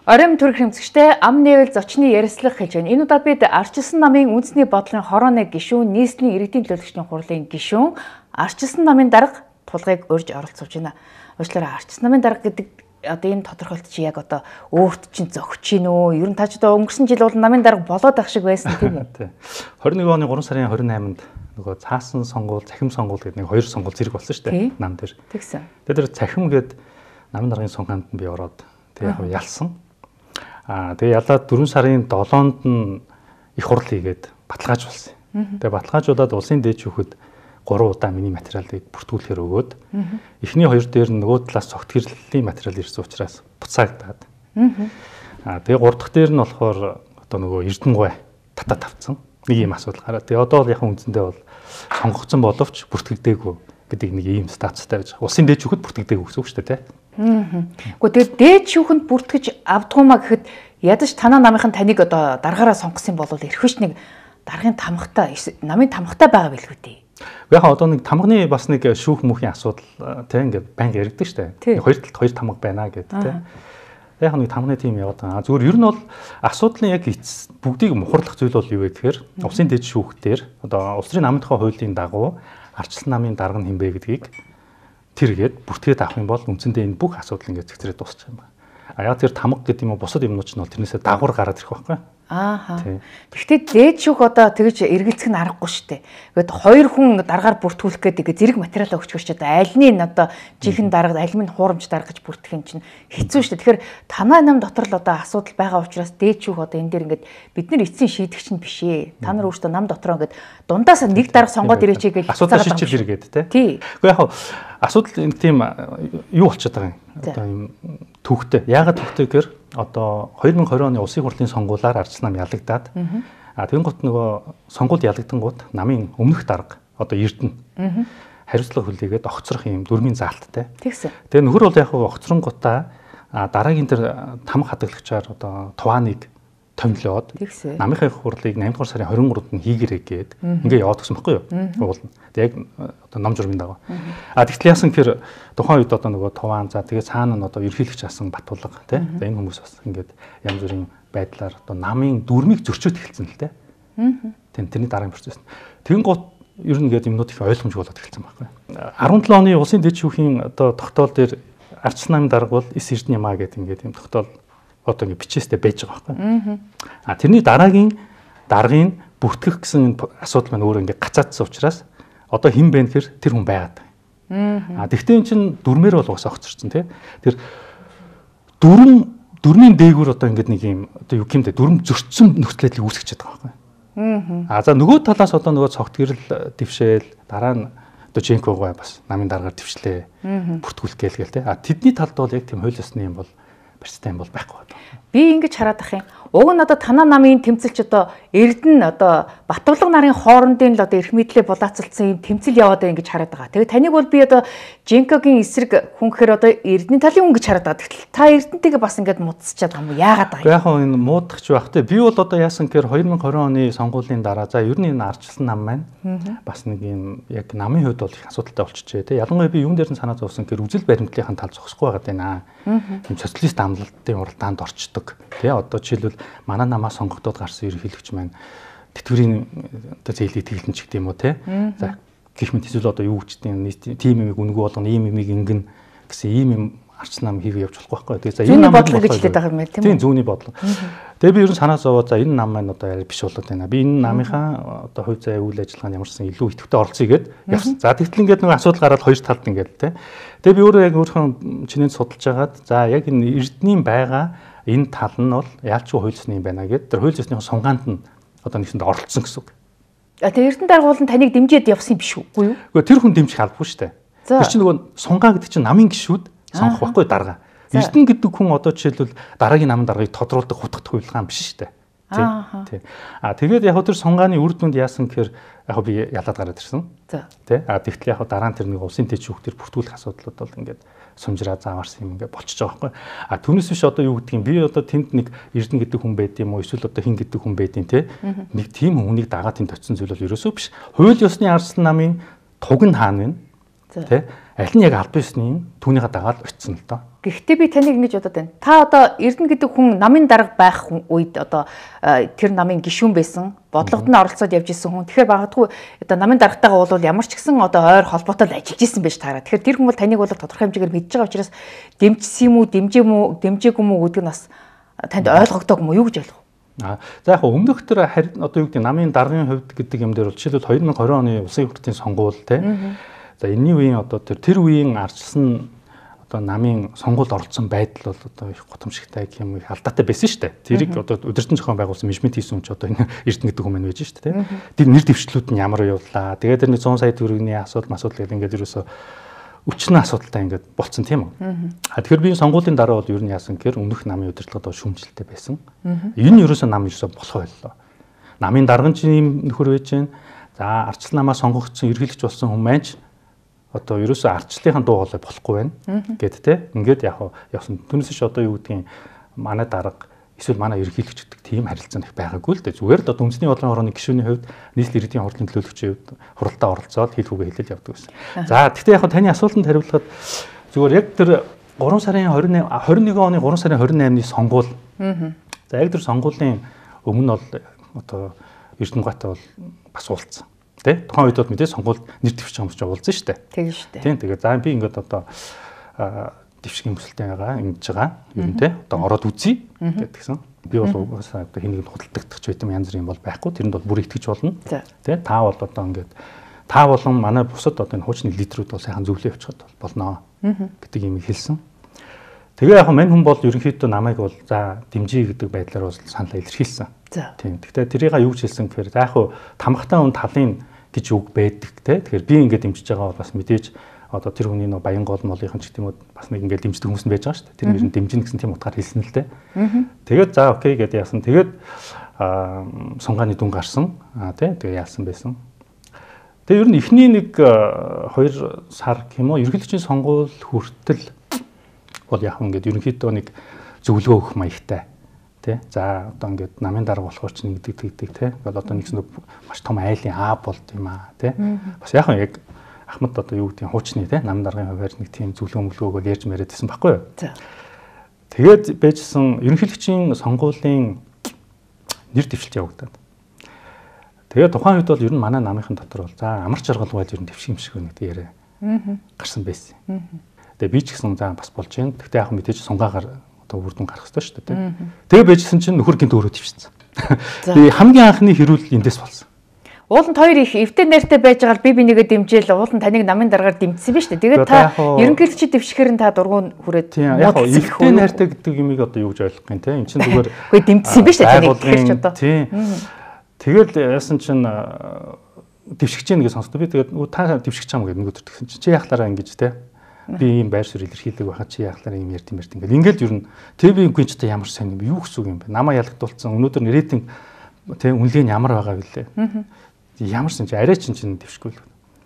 Оройн төрх хэмцэгчтэй ам нээвэл зочны ярилцлага хийж байна. Энэ удаад бид Ардчилсан намын үндэсний бодлогын хорооны гишүүн, нийслэлийн иргэдийн төлөөлөгчдийн хурлын гишүүн, Ардчилсан намын дарга тулгыг урьж оролцож байна. Уучлаарай, Ардчилсан намын дарга гэдэг одоо энэ тодорхойлт чи яг одоо өөрт чинь зөгч гин үү? Ер нь та ч одоо өнгөрсөн жил бол намын дарга болоод ах шиг байсан тийм үү? 21 оны 3 сарын 28-нд нөгөө цаасан сонгуул, цахим сонгуул гэдэг нэг хоёр сонгуул зэрэг болсон шүү дээ. Нам дээр. Тэгсэн. Тэр цахим гээд намын даргын сонгоомд би ороод тэг яг ялсан. Тэгээ ялаад 4 сарын 7-нд нь их хурл хийгээд баталгаажуулсан. Тэгээ баталгаажуулаад улсын дээд шүүхэд 3 удаа миний материалыг бүртгүүлэхээр өгөөд эхний хоёр дээр нөгөө талаас цогт хэрлийн материал ирсэн учраас буцаагдаад. Тэгээ 3 дахь дээр нь болохоор одоо нөгөө Эрдэнэгүй татаа тавцсан. Нэг юм асуудал гараад. Тэгээ одоо бол яг үндсэндээ бол сонгогдсон боловч бүртгэгдээгүй гэдэг нэг ийм статустай байж байгаа. Улсын дээд шүүхэд бүртгэгдээгүй гэсэн үг шүү дээ, тийм. Гэхдээ тэгээд дээд шүүхэнд бүртгэж авдгуумаа гэхэд ядаж танаа намынхан таныг одоо даргаараа сонгосон бол эрхвч нэг даргын тамгатай, намын тамгатай байгаа билгүй дээ. Яг одоо нэг тамганы бас нэг шүүх мөхийн асуудал тийм ингээд байнга яригддаг шүү дээ. Хоёр талд хоёр тамга байна гэдэг тийм. Яг нэг тамганы тим яваад байгаа. Зүгээр ер нь бол асуудлын яг бүгдийг мухарлах зүйл бол юу вэ гэхээр улсын дэд шүүхтэр одоо улс төрийн намын тухай хуулийн дагуу Ардчилсан намын дарга нь хэмбэ гэдгийг тэргээд бүртгээд авах юм бол үндсэндээ энэ бүх асуудал ингээд зэгцрээд дуусчих юм байна. Яг тэр тамга гэдэг юм уу бусад юмнууд ч нь бол тэрнээсээ дагавар гараад ирэх байхгүй. Тэгэхдээ дээд шүүх одоо тэгж эргэлзэх нь аргагүй шүү дээ. Ингээд хоёр хүн даргаар бүртгүүлэх гэдэг зэрэг материалаа өгчгөөч одоо аль нь одоо жинхэнэ дарга, аль нь хуурамч дарга гэж бүртгэх юм чинь хэцүү шүү дээ. Тэгэхээр танай нам дотор л одоо асуудал байгаа учраас дээд шүүх одоо энэ дээр ингээд бид нар эцсийн шийдэгч нь биш ээ. Та нар өөрсдөө нам дотроо ингээд дундаас нэг дарга сонгоод ирээч гэж асуудал шийдэл иргээд тий. Гэхдээ яг асуудал энэ тийм юу болчиход байгаа юм. Одоо юм төвхтэй. Яагаад төвхтэй гэхээр одоо 2020 оны улсын хурлын сонгуулиар Ардчилсан нам ялагдаад тэгэн гут нөгөө сонгуульд ялагдангууд намын өмнөх дарга одоо Эрдэнэ хариуцлага хүлээгээд огцрох юм дүрмийн заалттай. Тэгээ нөхөр бол яг огцронгуудаа дараагийн тэр тамга хадаглагчаар одоо тувааныг томилоод намынхаа хурлыг 8 дугаар сарын 23-нд нь хийгэрэй гээд ингээ яваад гсэн баггүй юу? Уулна. Тэг яг одоо ном журмын дагав. Тэгтэл яасан гэхээр тухайн үед одоо нөгөө туваан за тэгээ цаана нь одоо ерөнхийлөгч асан Батулга тий. За энэ хүмүүс бас ингээд янз бүрийн байдлаар одоо намын дүрмийг зөрчөөд эхэлсэн л дээ. Тэрний дараагийн процесс. Тэгэн гут ер нь ингээд юмнууд их ойлгомжгүй болоод эхэлсэн байхгүй. 17 оны улсын дэд шүүхийн одоо тогтоол дээр Ардчилсан намын дарга бол 9 Эрдэнэ юмаа гэдэг ингээд юм тогтоол одоо ингэ бичээстэй байж байгаа байхгүй. Тэрний дараагийн даргын бүртгэх гэсэн асуудал маань өөр ингэ гацаадсан учраас одоо хэн бэ гэхээр тэр хүн байгаад байгаа. Тэгвэл эн чинь дүрмээр бол угсаа огцорсон тий. Тэр дүрмийн дээгүүр одоо ингэ нэг юм одоо юу гэмдэ дүрм зөрчсөн нөхцөл байдлыг үүсгэж байгаа байхгүй. За нөгөө талаас одоо нөгөө цогт гэрэл дэвшээл дараа нь одоо Женкогой бас намын даргаар дэвшлээ. Бүртгүүлэх гээл тий. Тэдний талд бол яг тийм хууль ёсны юм бол барьцтай юм бол байхгүй байна. Би ингэж хараад ах юм. Уг нь одоо танаа намын тэмцэлч одоо Эрдэнэ одоо Батбалга нарын хоорондын л одоо эрх мэдлээ булаацалцсан юм тэмцэл яваад байгаа ингэж хараад байгаа. Тэгээ таныг бол би одоо Женкогийн эсрэг хүн гэхээр одоо Эрдэнэ талын хүн гэж хараад байгаа. Тэгтэл та Эрдэнэтэйгээ бас ингэж муудсчаад байгаа юм уу? Яагаад байгаа юм? Яг энэ муудахч байх те. Би бол одоо яасан гэхээр 2020 оны сонгуулийн дараа за ер нь энэ Ардчилсан нам маань бас нэг юм яг намын хувьд бол их асуудалтай болчихжээ те. Ялангуяа би юун дээр нь санаа зовсон гэхээр үзэл баримтлалын тал зогсохгүй байгаад байна. Юм социалист амлалтын уралдаанд орчдөг. Тэ одоо жишээлбэл манай намаа сонгогдоод гарсан ерөнхийлөгч маань тэтгэврийн одоо зээлийг тэглэн ч гэдэг юм уу те. За гэх мэт эсвэл одоо юу гэж тийм юмыг үнгүү болгоно, ийм юмыг ингэн гэсэн ийм юм Ардчилсан нам хийгээ явж болохгүй байхгүй. Тэгээ за энэ нам бодлого гэж хэлээд байгаа юм байна тийм үү? Тийм зүүнний бодлого. Тэгээ би ер нь санаа зовоод за энэ нам маань одоо яа биш болоод байна. Би энэ намынхаа одоо хувь заяа үйл ажиллагаанд ямарсан илүү идэвхтэй оролцъё гэд явсан. За тэгтэл ингээд нэг асуудал гараад хоёр талд ингээд те. Тэгээ би өөрөө яг өөрийнхөө чинээнд судалж агаад за яг энэ Эрдэнийн байгаа энэ тал нь бол яалчгүй хууль ёсны юм байна гэд тэр хууль ёсны сунгаанд нь одоо нэгсэнд оролцсон гэсэн үг. Тэгээ Эрдэнэ даргуул нь таныг дэмжиж явсан биш үү? Үгүй тэр хүн дэмжих албагүй шүү дээ. Тэр чинь нөгөө сунгаа гэдэг чинь намын гишүүд сонгох байхгүй дарга. Эрдэнэ гэдэг хүн одоо жишээлбэл дараагийн намын даргаыг тодруулдаг хутгах хувилгаан биш шүү дээ. Тий. Тэгээд яг тэр сунгааны үр дүнд яасан гэхээр яг би ялаад гараад ирсэн. Тий. Тэгтэл яг дараа нь тэр нэг улсын дэд шүүх төр бүртгүүлэх асуудлууд бол ингээд сумжраа зааварсан юм ингээд болчихж байгаа байхгүй. Түүнээс биш одоо юу гэдэг юм би одоо тэнд нэг Эрдэнэ гэдэг хүн байд юм уу эсвэл одоо хин гэдэг хүн байд юм те. Нэг тийм хүнийг дагаад тэнд очисон зүйл бол ерөөсөө биш. Хууль ёсны Ардчилсан намын туг нь хаана вэ? Тэ. аль нь яг аль биесний түүнийгээ дагаад очсон л доо. Гэхдээ би таныг ингэж бодоод байна. Та одоо Эрдэнэ гэдэг хүн намын дарга байх үед одоо тэр намын гишүүн байсан, бодлогод нь оролцоод явж исэн хүн. Тэгэхээр багадгүй одоо намын даргатайгаа бол ямар ч гэсэн одоо ойр холбоотой ажиллаж исэн байж таараа. Тэгэхээр тэр хүн бол таныг бол тодорхой хэмжээгээр мэдж байгаа учраас дэмжсэн юм уу, дэмжээгүй мүү гэдэг нь бас танд ойлгогдоог юм уу юу гэж ойлгох? За яг өмнөх тэр одоо юу гэдэг намын даргын хувьд гэдэг юм дээр бол жишээлбэл 2020 оны улсын хурлын сонгуул те. За энэний үеийн одоо тэр үеийн ардчилсан одоо намын сонгуульд оролцсон байдал бол одоо их гутамшигтай гэх юм их алдаатай байсан шүү дээ. Тэрийг одоо удирдсан зохион байгуулсан менежмент хийсэн хүн ч одоо энэ Эрдэнэ гэдэг хүн маань байж шүү дээ. Тэр нэр дэвшлүүд нь ямар явлаа. Тэгээд тэр 100 сая төгрөгийн асуудал гэдэг ингээд ерөөсөө өчнө асуудалтай ингээд болцсон тийм үү. Тэгэхээр би сонгуулийн дараа бол ер нь яасан гэхээр өмнөх намын удирдлагад шүүмжлэлтэй байсан. Энэ нь ерөөсөө нам ерөөсөө болох байлаа. Намын дарган чинь юм нөхөр байж гэн. За ардчлал намаа сонгогдсон ерөнхийлөгч болсон хүн маань одоо ерөөсөө ардчлалын дуу хоолой болохгүй байна гэд те. Ингээд яг явсан. Түүнээс ч одоо юу гэдгийг манай дарга эсвэл манай ерөнхийлөгч гэдэг тийм харилцаа их байгаагүй л дээ. Зүгээр л одоо үндэсний бодлогын хорооны гишүүний хувьд нийслэл иргэдийн хурлын төлөөлөгчийн хувьд хуралдаа оролцоод хэл хүүгээ хэлэл явдаг байсан. За гэхдээ яг таны асуултанд хариулахад зүгээр яг тэр 3 сарын 21 оны 3 сарын 28-ны сонгуул. За яг тэр сонгуулийн өмнө бол одоо Эрдэнэгатай бол бас уулзсан. Тэ? Тухайн үед бол мэдээ сонгуульд нэр дэвшиж байгаа юм чи уулзсан шүү дээ. Тийм шүү дээ. Тийм тэгээд за би ингээд одоо дэвшгийн бүсэлтэй ингэж байгаа юм те. Одоо ороод үзье гэдгсэн. Би бол угаасаа одоо хэнийг худалдагдах байт юм янз бүрийн бол байхгүй. Тэрэнд бол бүр итгэж болно. Тэ? Та бол одоо ингээд та болон манай бусад одоо энэ хуучны лидерүүд бол сайхан зөвлөө явуулчихад болноо гэдэг юм хэлсэн. Тэгээ яг мань хүн бол ерөнхийдөө намайг бол за дэмжиж гэдэг байдлаар бол саналаа илэрхийлсэн. Тийм. Гэхдээ тэрийг юу гэж хэлсэн гэхээр за яг тамхтай хүн талын гэж үг байдаг те. Тэгэхээр би ингээд дэмжиж байгаа бол бас мэдээж одоо тэр хүний нэг баян гол молынхан ч гэдэм үү бас нэг ингээд дэмждэг хүмүүс нь байж байгаа шүү дээ. Тэр нэр нь дэмжинэ гэсэн тийм утгаар хэлсэн л дээ. Тэгээд за окей гэдээ яасан. Тэгээд сунгааны дүн гарсан. Тий. Тэгээ яасан байсан. Тэгээ ер нь эхний нэг 2 сар гэмүү ерөнхийлөгчийн сонгуул хүртэл бол яг ингээд ерөнхийдөө нэг зөвлөгөө өгөх маягтай. Тэ. За одоо ингээд намын дарга болохоор ч нэг гэдэг те. Ингээл одоо нэгсэн маш том айлын болд юм аа те. Бас яг Ахмад одоо юу гэдэг хуучны те намын даргын хувьд нэг тийм зөвлөгөө мөлгөөгөө ярьж мэрэдсэн баггүй юу. Тэгээд байжсэн ерөнхийлөгчийн сонгуулийн нэр дэвшилт явагдаад. Тэгээд тухайн үед бол ер нь манай намынхан дотор бол за амар жаргалгүй ер нь дэвших юм шиг байна гэдэг яриа гарсан байсан. Тэгээ би ч гэсэн за бас болж байна. Гэхдээ яг мэдээж сунгаагаар үр дүн гарах хэрэгтэй шүү дээ. Тэгээ байжсэн чинь нөхөр гинт өөрөө твшсэн. Тэгээ хамгийн анхны хэрүүл эндээс болсон. Ууланд хоёр их эвтэй найртай байж байгаа би нэгэ дэмжээл ууланд таныг намын дараагаар дэмжсэн биз дээ. Тэгээд та ерөнхийлөгчид дэвшихээр та дургуун хүрээд яг эвтэй найртай гэдэг юмыг одоо юу гэж ойлгох юм те. Энд чинь зүгээр үгүй дэмжсэн биз дээ таныг тэгэхээр ч одоо. Тийм. Тэгэл яасан чинь дэвшигч гэнэ гэж сонсдоо би тэгээд та дэвшигч чам гэдэг нөгөөдөр тэгсэн чинь чи яахлаараа ингэж те. Би ийм байр суурь илэрхийлдэг байхад чи яахлаар ийм ярьд ингээл ингээд ер нь тэг би үгүй ч та ямар сайн юм бэ юу гэсэн үг юм бэ намаа ялгдуулсан өнөөдөр рейтинг тэг үнэлгээ нь ямар байгаа вүлээ ямар сан чи арай чин дэвшгүй л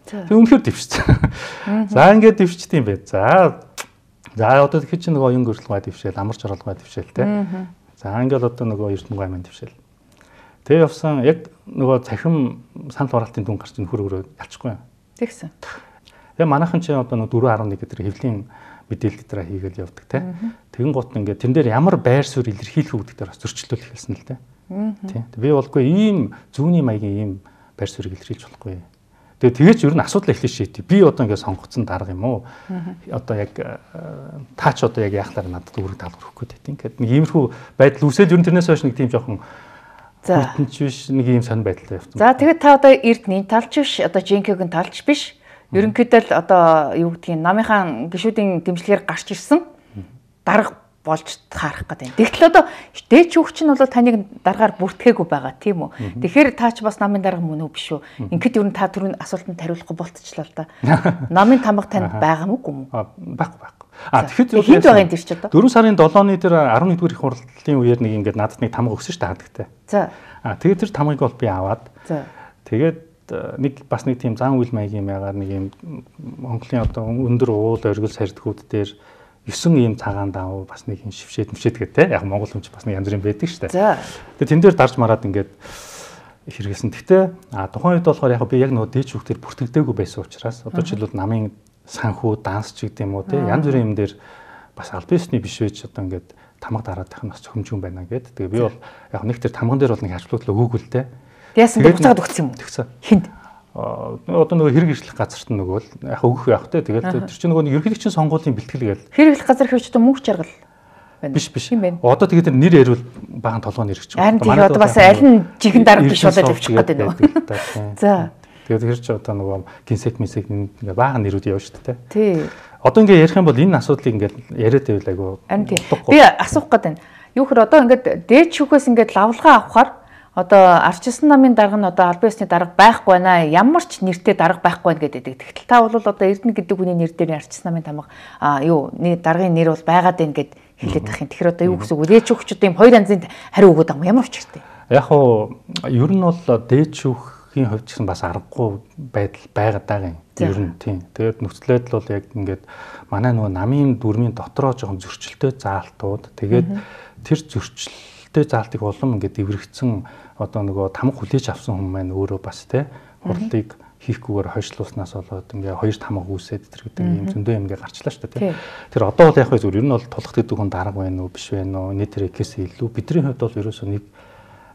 тэг үнэхээр дэвшсэн за ингээд дэвшчихдээ юм бэ за одоо тэгэхээр чи нөгөө оюун гөрөлгөө дэвшээл амар жаргалгоо дэвшээл те за ингээд одоо нөгөө Эрдэнэ гой маань дэвшээл тэг явсан яг нөгөө цахим санал хураалтын дүн гарч нөхөр өөрөө ялчихгүй тэгсэн. Тэгээ манайхан чи одоо 4.1 гэдэг хэвлийн мэдээлэл дээр хийгээл явдаг те. Тэгэн гут ингээд тэн дээр ямар байр суурь илэрхийлэх үү гэдэг дээр бас зөрчлөлт хэлсэн л те. Тийм. Би болгүй ийм зүүнний маягийн ийм байр суурийг илэрхийлж болохгүй. Тэгээ ч ер нь асуудал эхлэж шийдтий. Би одоо ингээд сонгогдсон дарга юм уу? Одоо яг таач одоо яг яахлаар надад үүрэг даалгавар өгөх гээд тийм. Ингээд нэг иймэрхүү байдал үсээд ер нь тэрнээс хойш нэг тийм жоохон бүтэнч биш нэг ийм сонир байдалтай явсан. За тэгээд та одоо Эрдэнийн талч биш одоо Жинкигийн талч биш. Ерөнхийдөө л одоо юу гэдгийг намынхаа гишүүдийн дэмжлэгээр гарч ирсэн дарга болж харах гэдэг. Тэгтэл одоо дээч хүүхч нь бол таныг даргаар бүртгээгүй байгаа тийм үү. Тэгэхээр та ч бас намын дарга мөн үү биш үү. Ингээд ер нь та түрүүний асуултанд хариулахгүй болтчлаа л да. Намын тамга танд байгаа мүү гүм үү? Байхгүй. Тэгэхээр хинт байгаа юм тийч одоо. 4 сарын 7-ны дээр 11-р их хурлын үеэр нэг ингээд надад нэг тамга өгсөн шүү дээ хадагтай. За. Тэгээд тэр тамгыг бол би аваад. За. Тэгээд нэг бас нэг тийм зан үйл маягийн ягаар нэг юм Монголын одоо өндөр уул оргил сардгууд дээр 9 ийм цагаан даав бас нэг юм шившээд гэдэг те яг Монгол хүн ч бас нэг янз бүрийн байдаг шүү дээ. За. Тэгээд тэн дээр дарж мараад ингээд хэрэгсэн. Гэхдээ тухайн үед болохоор яг би яг нөгөө дээч хүүхдэр бүртгэдэггүй байсан учраас одоо жишээлбэл намын санхүү, данс ч гэдэг юм уу те янз бүрийн юм дээр бас аль биесний биш байж одоо ингээд тамга дараадах нь бас цохимжгүй байна гэдэг. Тэгээ би бол яг нэг тэр тамган дээр бол нэг ажлуудлаа өгөөгүй л те. Яасан бэ? Буцаад өгсөн юм уу? Тэгсэн. Хинд? Одоо нөгөө хэрэг ишлэх газарт нь нөгөө л яг өгөх явах те. Тэгэл тэр чинь нөгөө ерөнхийлөгчийн сонгуулийн бэлтгэл гээл. Хэрэг ишлэх газар хэвч одоо мөнх жаргал байна. Биш. Одоо тэгээд тэр нэр ярил баган толгойн нэр гэж байна. Манай одоо бас аль нь жихэн дарга биш болоод явчих гээд байна уу? За. Тэгээд тэр чинь одоо нөгөө гинсек ингээ баахан нэрүүд явж шүү дээ. Тий. Одоо ингээ ярих юм бол энэ асуудлыг ингээ яриад байвал айгу. Би асуух гээд байна. Юу хэр одоо ингээ дээд шүүхээс ингээ лавлгаа авахаар одоо ардчилсан намын дарга нь одоо аль биесний дарга байхгүй байна. Ямар ч нэртэй дарга байхгүй байна гэдэг. Тэгтэл та бол одоо Эрдэнэ гэдэг хүний нэр дээр ардчилсан намын тамга даргын нэр бол байгаад байна гэд хэлээд байх юм. Тэгэхээр одоо юу гэсэн үг вэ? Дээд шүүгчд ийм хоёр янзын хариу өгöd байгаа юм. Ямар учиртай? Яг уу ер нь бол дээд шүүхийн хувьд ч гэсэн бас аргагүй байдал байгаад байгаа юм. Ер нь тийм. Тэгээд нөхцөл байдал бол яг ингээд манай нөгөө намын дүрмийн дотроо жоохон зөрчилтэй заалтууд тэгээд тэр зөрчилтэй заалтыг улам ингээд эврэгцэн одоо нөгөө тамга хүлээж авсан хүмүүс маань өөрөө бас те хурлыг хийхгүйгээр хойшлууснаас болоод ингээ хоёр тамга үүсээд тэр гэдэг юм зөндөө юм ингээ гарчлаа шүү дээ. Тэр одоо бол яг хөө зүгээр ер нь бол тулах гэдэг хүн дарга байна уу биш байна уу нийт тэрээс илүү бидний хувьд бол ерөөсөө нэг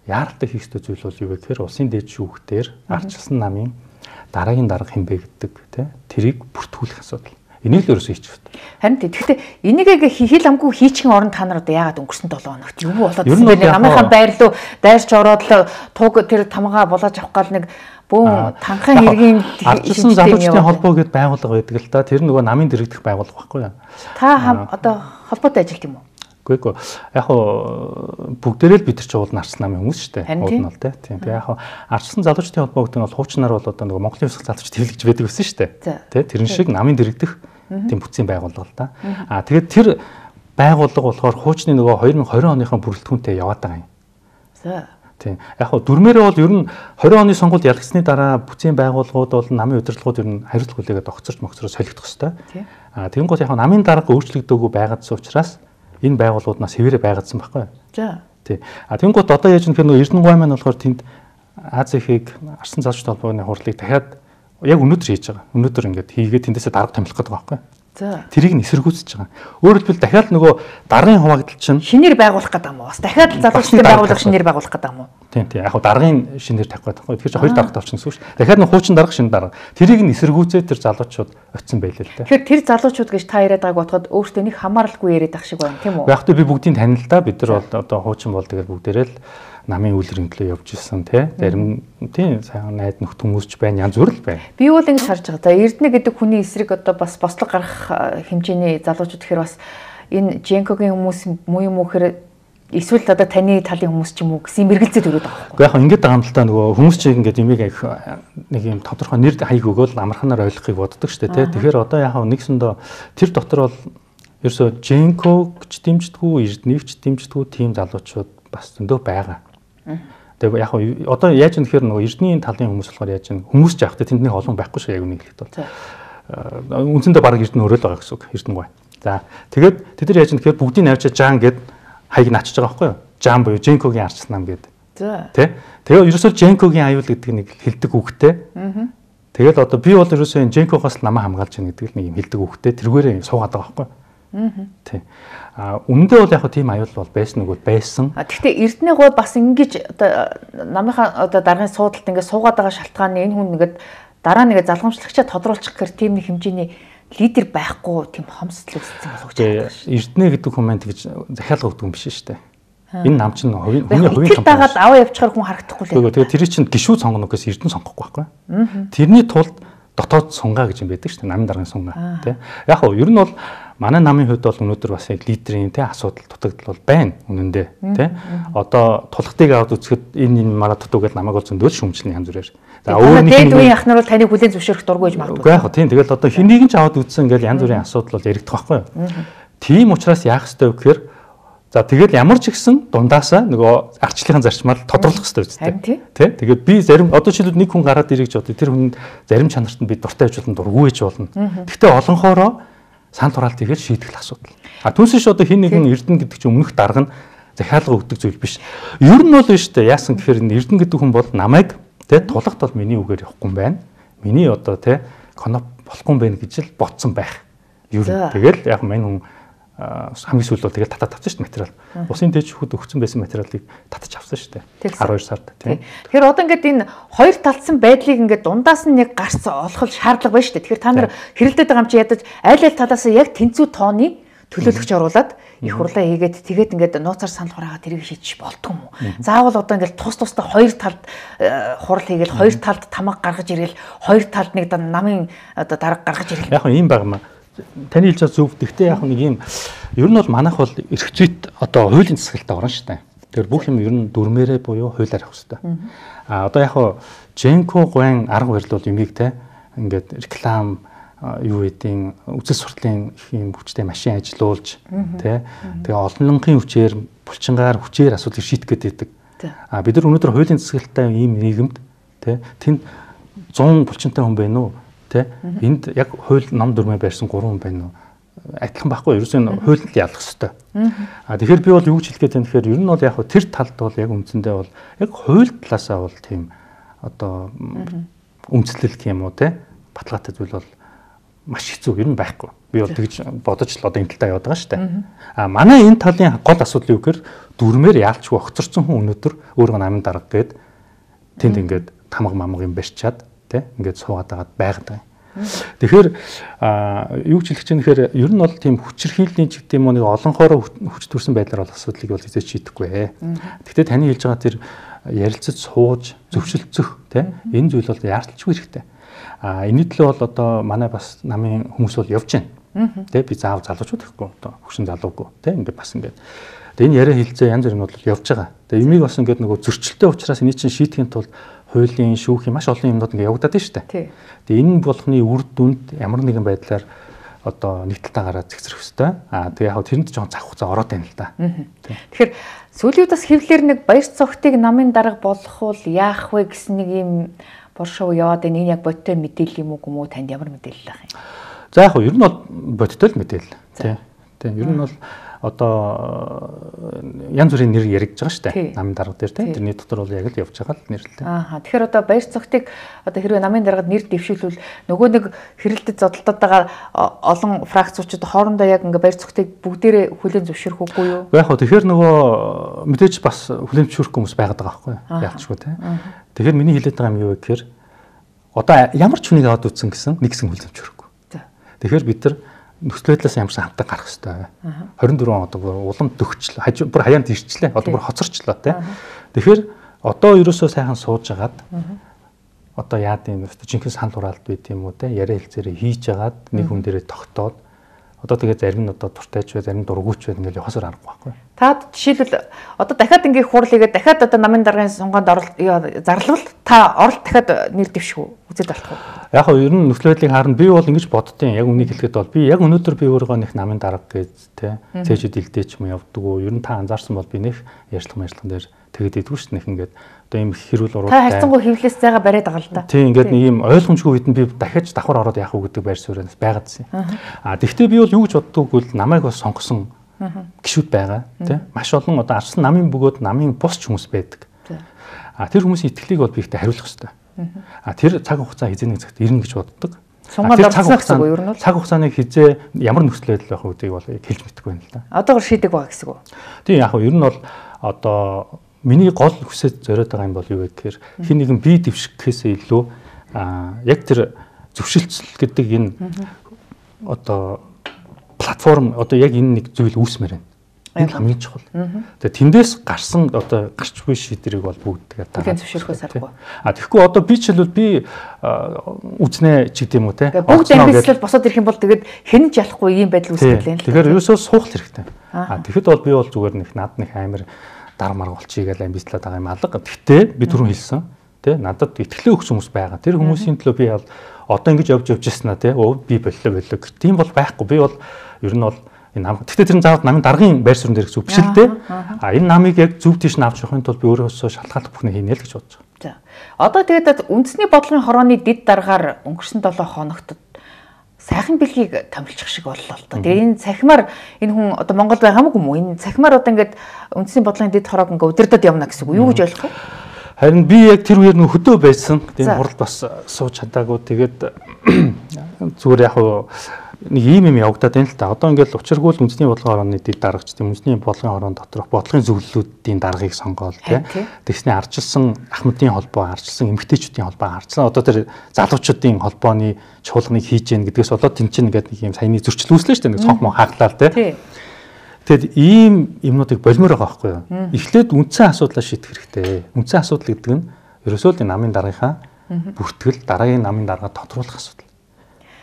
яаралтай хийх ёстой зүйл бол юу вэ гэхээр улсын дээд шүүхтэр ардчилсан намын дараагийн дарга хэмбэ гэдэг те тэрийг бүртгүүлэх асуудал. Энийг л ерөөсөө хийчих хэрэгтэй. Харин тэгэхдээ энийг хил амгүй хийчихэн орон та нар одоо яагаад өнгөрсөн 7 хоногт юу болоод байна? Намынхаа байр руу дайрч ороод туг тэр тамгаа болоож авах гал нэг бүүн танхаа хэргийн ардчилсан залуучдын холбоо гэдээ байгууллага байдаг л да. Тэр нөгөө намын дэрэгдэх байгууллага байхгүй юу? Та одоо холбоотой ажилт юм уу? Үгүй яг хоо бүгдээрээ л бид нар ч уулын ардчилсан намын хүмүүс шүү дээ. Уулын бол тийм. Тэгээ яг хоо ардчилсан залуучдын холбоо гэдэг нь бол хуучнаар бол одоо нөгөө Монголын ёсох залуучд хэлж байдаг байсан шүү дээ. Тэ тэрэн шиг намын дэрэгдэх тийм бүтцийн байгууллага л да. Тэгээд тэр байгууллага болохоор хуучны нөгөө 2020 оныхон бүрэлдэхүүнтэй яваад байгаа юм. За. Тийм. Яг хоо дүрмээрээ бол ер нь 20 оны сонгуульд ялагдсны дараа бүтцийн байгууллагууд бол намын удирдлагууд ер нь хариуцлага хүлээгээд огцорч солигдох хэвээр. Тэгэнгүүт яг хоо намын дарга өөрчлөгдөөгүй байгаадсан учраас энэ байгууллагууднаас хэвээрээ байгаадсан байхгүй юу? За. Тий. Тэгэнгүүт одоо яаж нөхөр нөгөө Эрдэнэ гой маань болохоор тэнд АЗХ-ийг арсан залуучдын холбооны хурлыг дахиад яг өнөөдөр хийж байгаа. Өнөөдөр ингээд хийгээд тэндээсээ дарга томилох гэдэг байгаа байхгүй юу? За. Тэрийг нь эсэргүүцэж байгаа. Өөрөөр хэлбэл дахиад нөгөө даргын хуваагдал чинь шинээр байгуулах гэдэг юм уу? Бас дахиад залуучдын байгууллага шинээр байгуулах гэдэг юм уу? Тийм. Яг хоо даргын шинээр тавих гэдэг байхгүй. Тэгэхээр хоёр дарга тавьчихсан гэсэн үг шүү. Дахиад нэг хуучин дарга шинэ дарга. Тэрийг нь эсэргүүцээд тэр залуучууд очсон байлээ л дээ. Тэгэхээр тэр залуучууд гэж та яриад байгааг бодоход өөртөө нэг хамааралгүй яриад ах шиг байна тийм үү? Яг би бүгдийг танил л да. Бид нар бол одоо хуучин бол тэгэл бүгдээрээ л намын үйл хэрэглээ явж ирсэн тий. Зарим тий сайн найд нөхд хүмүүс ч байна, янз бүр л байна. Би бол ингэж харж байгаа. За Эрдэнэ гэдэг хүний эсрэг одоо бас бослог гарах хэмжээний залуучууд гэхээр бас энэ Женкогийн хүмүүс муу юм уу гэхээр эсвэл одоо таны талын хүмүүс ч юм уу гэсэн мэргэлзээд өрөөд байгаа байхгүй. Яг ингэж байгаа юм л та нөгөө хүмүүс чинь ингэж имийг нэг юм тодорхой нэр хаяг өгөөл амарханаар ойлгохыг боддог шүү дээ тий. Тэгэхээр одоо яг нэгсэндээ тэр дотор бол ерөөсө Женког ч дэмждэггүй, Эрдэнэв ч дэмждэггүй тийм залуучууд бас зөндөө байгаа. Тэгээ яг одоо яаж юм гэхээр нөгөө Эрдэнийн талын хүмүүс болохоор яаж юм хүмүүс ч явахдаа тэнд нэг олон байхгүй шүү яг үнэ хэлэхэд бол. Үндсэндээ баг Эрдэнэ өрөөл байгаа гэсэн үг Эрдэнэ гой. За тэгээд тэд нар яаж юм гэхээр бүгдийг навчаа жаан гэд хаяг начиж байгаа байхгүй юу? Жаан буюу Женкогийн ардчилсан нам гэд. За. Тэ? Тэгээ ерөөсөө Женкогийн аюул гэдэг нэг хэлдэг үгтэй. Тэгэл одоо би бол ерөөсөө энэ Женкогоос намаа хамгаалж яах гэдэг нэг юм хэлдэг үгтэй тэргээрээ суугаад байгаа байхгүй юу? Тий. Үндэ бол яг тийм аюул бол байсан үгүй байсан. Гэхдээ Эрдэнэ гой бас ингэж одоо намынхаа одоо даргын суудалд ингэ суугаад байгаа шалтгааны энэ хүн нэгэд дараа нэгэ залгамжлагчаа тодруулчих гэхээр тийм нэг хэмжээний лидер байхгүй тийм хомсдол үүссэн болов уу гэж байна. Эрдэнэ гэдэг хүн маань тэгж захиалга өгдөг юм биш шүү дээ. Энэ нам чинь хүний хувийн том. Дагаад аваа явчихаар хүн харагдахгүй л. Тэгээ тэр чинь гişүү сонгоно гэхээс Эрдэнэ сонгохгүй байхгүй. Тэрний тулд дотоод сунгаа гэж юм байдаг шүү дээ. Намын даргын сунгаа тий. Яг хөө ер нь бол манай намын хувьд бол өнөөдөр бас яг лидерийн тий асуудал дутагдал бол байна үнэндээ тий. Одоо тулхтыг аваад үзэхэд энэ мараа дутуу гэдэг намайг бол зөндөө шүмжлэн янз бүрээр. За өөр нэг дээд үеийн ах нар бол таныг хүлээн зөвшөөрөх дургүй гэж магадгүй. Үгүй яг тийм тэгэл одоо хэнийг ч аваад үзсэн ингээл янз бүрийн асуудал бол яригдах байхгүй юу. Тийм учраас яах ёстой вэ гэхээр за тэгэл ямар ч ихсэн дундаасаа нөгөө ардчлалын зарчмаар тодруулах ёстой үстэй. Тэ? Тэгээд би зарим одоо жишээлбэл нэг хүн гараад ирэх гэж бодъё. Тэр хүн зарим чанарт нь би дуртай байж болно, дургүй байж болно. Гэхдээ олонхоороо сан тураалт ихээр шийдэх асуудал. Түүнээс одоо хин нэгэн Эрдэнэ гэдэг чинь өмнөх дарга нь захиалга өгдөг зүйл биш. Ер нь бол биш үү? Яасан гэхээр Эрдэнэ гэдэг хүн бол намайг тэ тулахт бол миний үгээр явахгүй юм байна. Миний одоо тэ коноп болохгүй байх гэж л бодсон байх. Юу тэгэл яг мань хүн хамгийн сүүл бол тэгэл татаад авсан шүү дээ материал. Усын дээд шүүхэд өгсөн байсан материалыг татаж авсан шүү дээ. 12 сард тийм. Тэгэхээр одоо ингээд энэ хоёр талцсан байдлыг ингээд дундаас нь нэг гарц олох шаардлага байна шүү дээ. Тэгэхээр та нар хэрэлдээд байгаа юм чи ядаж аль аль талаас яг тэнцүү тооны төлөөлөгч оруулаад их хурлаа хийгээд тэгээд ингээд нууцаар санал хураагаад тэрийг шийдчих болдгоо юм уу? Заавал одоо ингээд тусдаа хоёр талд хурал хийгээл хоёр талд тамга гаргаж ирээл хоёр талд нэг намын одоо дарга гаргаж ирээл. Яг юм байгаа юм. Таны хэлж байгаа зөв. Гэхдээ яг нэг юм ер нь бол манайх бол эрх зүйд одоо хуулийн засаглалтаа орно шүү дээ. Тэгэхээр бүх юм ер нь дүрмээрээ буюу хуулиар авах хэрэгтэй. Одоо яг Женко гуайн арга барил бол юмыг те ингээд реклам юу гэдгийг үзэл суртлын юм хүчтэй машин ажилуулж тий тэгээ олонлонгийн хүчээр булчингаар хүчээр асуудлыг шийдэх гэдэг. Бид нар өнөөдөр хуулийн засаглалттай ийм нийгэмд тий тэнд 100 булчинтай хүн байна уу тий энд яг хууль ном дүрмээ байрсан 3 хүн байна уу адилхан байхгүй ерөөсөө хуулийг ялах хэрэгтэй. Тэгэхээр би бол юу гэж хэлэх гээд байна тэгэхээр ер нь бол яг тэр талд бол яг үндсэндээ бол яг хууль талаасаа бол тийм одоо өмцлөл гэх юм уу тий баталгаатай зүйл бол маш хэцүү ер нь байхгүй. Би бол тэгж бодож л одоо энэ талдаа яваад байгаа шүү дээ. Манай энэ талын гол асуудал юу гэхээр дүрмээр яалчгүй огцорсон хүн өнөөдөр өөрөө намын дарга гээд тэнд ингээд тамга мамга юм барьчаад тий ингээд суугаад байгаад байгаа. Тэгэхээр юу ч хэлэх чинь тэгэхээр ер нь бол тийм хүчирхийллийн ч гэдэг юм уу нэг олонхоороо хүч төрсэн байдлаар бол асуудлыг бол хэзээ шийдэхгүй. Гэхдээ таны хэлж байгаа тэр ярилцаж сууж зөвшөлдсөх тий энэ зүйл бол яарчгүй хэрэгтэй. Энэний төлөө бол одоо манай бас намын хүмүүс бол явж байна. Тэ би заав залуучууд гэхгүй одоо хөшин залуугүй тэ ингээд бас ингээд. Тэгээ энэ яриа хэлцээ янз бүрийн бол явж байгаа. Тэгээ юмыг бас ингээд нөгөө зөрчилтэй учраас эний чинь шийдэхин тулд хуулийн шүүхийн маш олон юмнууд ингээд явагдаад байна шүү дээ. Тэгээ энэ болгоны үр дүнд ямар нэгэн байдлаар одоо нэг талтаа гараад зэгцрэх хэвээр. Тэгээ яг тэрэнд жоохон цаг хугацаа ороод байна л да. Тэгэхээр сүүлийн удаас хэвлэлэр нэг баяр цогтыг намын дарга болгох уу яах вэ гэсэн нэг юм боршоо яваад энэ яг бодтой мэдээлэл юм уу танд ямар мэдээлэл байх юм? За яг ер нь бол бодтой л мэдээлэл. Тийм. Ер нь бол одоо янз бүрийн нэр яригдж байгаа шүү дээ. Намын дарга дээр тийм. Тэрний дотор бол яг л явж байгаа л нэрлэлтэй. Тэгэхээр одоо баяр цогтыг одоо хэрвээ намын даргад нэр дэвшүүлвэл нөгөө нэг хэрэлдэд зодтолтод байгаа олон фракцууд хоорондоо яг ингээ баяр цогтыг бүгдээрээ хүлээн зөвшөөрөх үгүй юу? Яг хөө тэгэхээр нөгөө мэдээж бас хүлээн зөвшөөрөх хүмүүс байгаад байгаа байхгүй юу? Яалтчгүй тийм. Тэгэхээр миний хэлээд байгаа юм юу вэ гэхээр одоо ямар ч хүнийг аваад үтсэн гэсэн нэг хэсэг хүлээн зөвшөөрөхгүй. Тэгэхээр бид нар нөхцөл байдлаас ямарсан хамтаа гарах хэрэгтэй. 24 он одоо улам дөгчлөө. Бүр хаяанд ирчлээ. Одоо бүр хоцорчлоо тийм. Тэгэхээр одоо ерөөсөө сайхан сууж агаад одоо яад юм бэ? Жинхэнэ санал хураалт байт юм уу те? Яриа хэлцээрээ хийж агаад нэг хүн дээрээ тогтоод одоо тэгээ зарим нь одоо дуртайч бай, зарим дургуйч бай ингээл явахсаар аргагүй байхгүй. Та жишээлбэл одоо дахиад ингээ хурал хийгээд дахиад одоо намын даргын сунганд зарлавал та оролт дахиад нэр дэвшгүй үзээд болох уу? Яг нь ер нь нөхцөл байдлыг харна би бол ингэж боддtiin. Яг үнийг хэлэхэд бол би яг өнөөдөр би өөрийгөө нэг намын дарга гэж те цээжүүд илдээч юм явдаг уу? Ер нь та анзаарсан бол би нэг ярьцлага дээр тэгээд идэггүй шүү дээ ингээд одоо ийм хэрүүл уруу та хайцангуй хөвлөөс зайгаа бариад байгаа л да. Тийм ингээд нэг ийм ойлгомжгүй үед нь би дахиад давхар ороод яах вэ гэдэг байр сууриас байгаадсэн. Тэгвэл би бол юу гэж боддог вэ? Намайг бас сонгосон гишүүд байгаа тийм маш олон одоо арсан намын бөгөөд намын бус ч хүмүүс байдаг. Тэр хүмүүсийн итгэлийг бол би ихтэй хариулах хэрэгтэй. Тэр цаг хугацаа хизээ нэг цагт ирнэ гэж боддог. Сунгаад орсон гэсэн үг юу ер нь? Цаг хугацааны хизээ ямар нөхцөл байдал байх үгдийг бол хэлж мэдэхгүй байна л да. Одоогор шийдэг байгаа гэсэн үг. Тийм яг нь ер нь бол одоо миний гол хүсэж зориод байгаа юм бол юу вэ гэхээр хин нэгэн бие дэвшгэхээс илүү яг тэр зөвшөлтсөл гэдэг энэ одоо платформ одоо яг энэ нэг зүйл үүсмээр байна. Энэ хамгийн чухал. Тэгээ тэндээс гарсан одоо гарч буй шийдвэрийг бол бүгд тэгээд дараа зөвшөөрөхөөс аргагүй. Тэгэхгүй одоо би ч хэлвэл би үзнэ ч гэдэм үү те. Бүгд амьдслал босоод ирэх юм бол тэгээд хэн ч ялахгүй ийм байдал үүсгэж байна. Тэгэхээр ерөөсөө суух хэрэгтэй. Тэгэхэд бол би бол зүгээр нэг над нэг амар дар марга болчихъя гэж амьдслаад байгаа юм алга. Гэхдээ би түрүүн хэлсэн те надад итгэлээ өгсөн хүмүүс байгаа. Тэр хүмүүсийн төлөө би бол одоо ингэж явж яснаа те би боллоо. Тийм бол байхгүй. Би бол ер нь бол энэ нам. Гэхдээ тэр заавал намын даргын байр суурин дээр зүг биш л дээ. Энэ намыг яг зөв тийш нь авч явахын тулд би өөрөөсөө шалтгааллах бүхнийг хийнэ л гэж бодож байгаа. За. Одоо тэгээд үндэсний бодлогын хорооны дид даргаар өнгөрсөн 7 хоногт сайхан бэлгийг томилчих шиг боллоо л доо. Тэгээ энэ цахимаар энэ хүн одоо Монголд байгаа хамаагүй юм уу? Энэ цахимаар одоо ингээд үндэсний бодлогын дид хороог ингээд удирдах явна гэсэн үг. Юу гэж ойлгох вэ? Харин би яг тэр үеэр нөх хөдөө байсан. Тэгээд хуралд бас сууж чадаагүй. Тэгээд зүгээр яг нэг юм явагдаад байна л та. Одоо ингээл учиргүй үндэсний бодлогын орооны дэд дарагч, үндэсний бодлогын орон доторх бодлогын зөвлөлүүдийн даргыг сонгоол тий. Тэгснэ арчилсан Ахмадын холбоо, арчилсан эмэгтэйчүүдийн холбоо, арчилсан одоо тэр залуучуудын холбооны чуулганыг хийж гэн гэдгээс болоод тэн чинь ингээд нэг юм саяны зөрчил үүслээ шүү дээ. Нэг цонх мон хаглаа тий. Тэгэд ийм юмнуудыг болмоор байгаа байхгүй юу? Эхлээд үндсэн асуудлаа шийдэх хэрэгтэй. Үндсэн асуудал гэдэг нь ерөөсөө л намын даргынхаа бүртгэл, дараагийн намын даргаа тодруулах асуудал.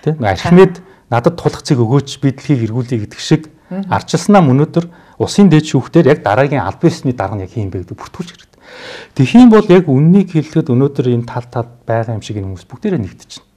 Тэ? Архимед надад тулах цэг өгөөч би дэлхийг эргүүлье гэдэг шиг арчилснаа өнөөдөр усын дээд шүүхтэр яг дараагийн албан ёсны дарга нь яг хийм бэ гэдэг бүртгүүлж хэрэгтэй. Тэгхийн бол яг үннийг хэлэхэд өнөөдөр энэ тал байгаа юм шиг энэ хүмүүс бүгдээрээ нэгдэж байна.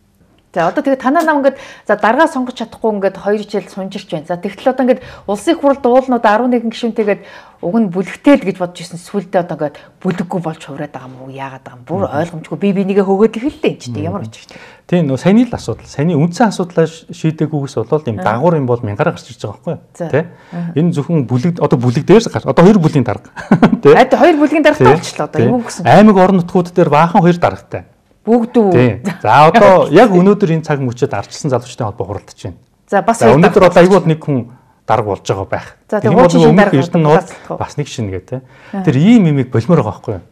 За одоо тэгээд танаа нам ингээд за даргаа сонгож чадахгүй ингээд 2 жил сунжирч байна. За тэгтэл одоо ингээд улсын хурал дуулнууд 11 гишүүнтэйгээд уг нь бүлэгтэй л гэж бодож ирсэн. Сүулдэ одоо ингээд бүлэггүй болж хувраад байгаа юм уу? Яагаад байгаа юм? Бүр ойлгомжгүй би бинийгээ högөөд эхэллээ энэ ч тийм ямар очиж тийм. Тийм нөө саяны л асуудал. Саяны үндсэн асуудлаа шийдээгүйгээс болоод юм дагуур юм бол мянгаараа гарч ирж байгаа байхгүй юу? Тэ? Энэ зөвхөн бүлэг одоо бүлэг дээрс гарч одоо 2 бүлгийн дарга. Тэ? 2 бүлгийн даргатай болчихлоо одоо юм гэсэн. Аймаг орон нутгууд дээр баахан 2 даргатай. Бүгд үү. За одоо яг өнөөдөр энэ цаг мөчөд арчилсан залуучдын холбоо хуралдаж байна. За бас өнөөдөр одоо айгууд нэг хүн дарга болж байгаа байх. Тийм бол өмнөх Эрдэнэ бас нэг шин гэдэг. Тэр ийм имийг болмоор байгаа байхгүй юу?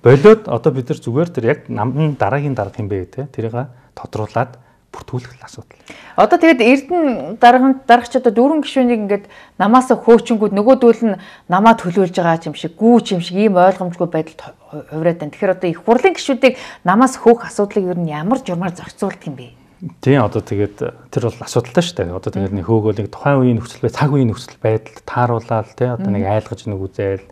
Болоод одоо бид нар зүгээр тэр яг намын дараагийн дарга юм бэ гэдэг. Тэрийг тодруулаад бүртгүүлэх асуудал. Одоо тэгээд Эрдэнэ дарагч одоо 4 гишүүнийг ингээд намаас хөөчөнгүүд нөгөөдөл нь намаа төлөөлж байгаа юм шиг гүүч юм шиг ийм ойлгомжгүй байдалд хувраад байна. Тэгэхээр одоо их хурлын гишүүдийг намаас хөөх асуудлыг ер нь ямар журмаар зохицуулдаг юм бэ? Тийм одоо тэгээд тэр бол асуудалтай шүү дээ. Одоо тэгээд нэг хөөгөөлийг тухайн үеийн нөхцөл байдал, цаг үеийн нөхцөл байдалд тааруулаад тий одоо нэг айлгаж нэг үзэл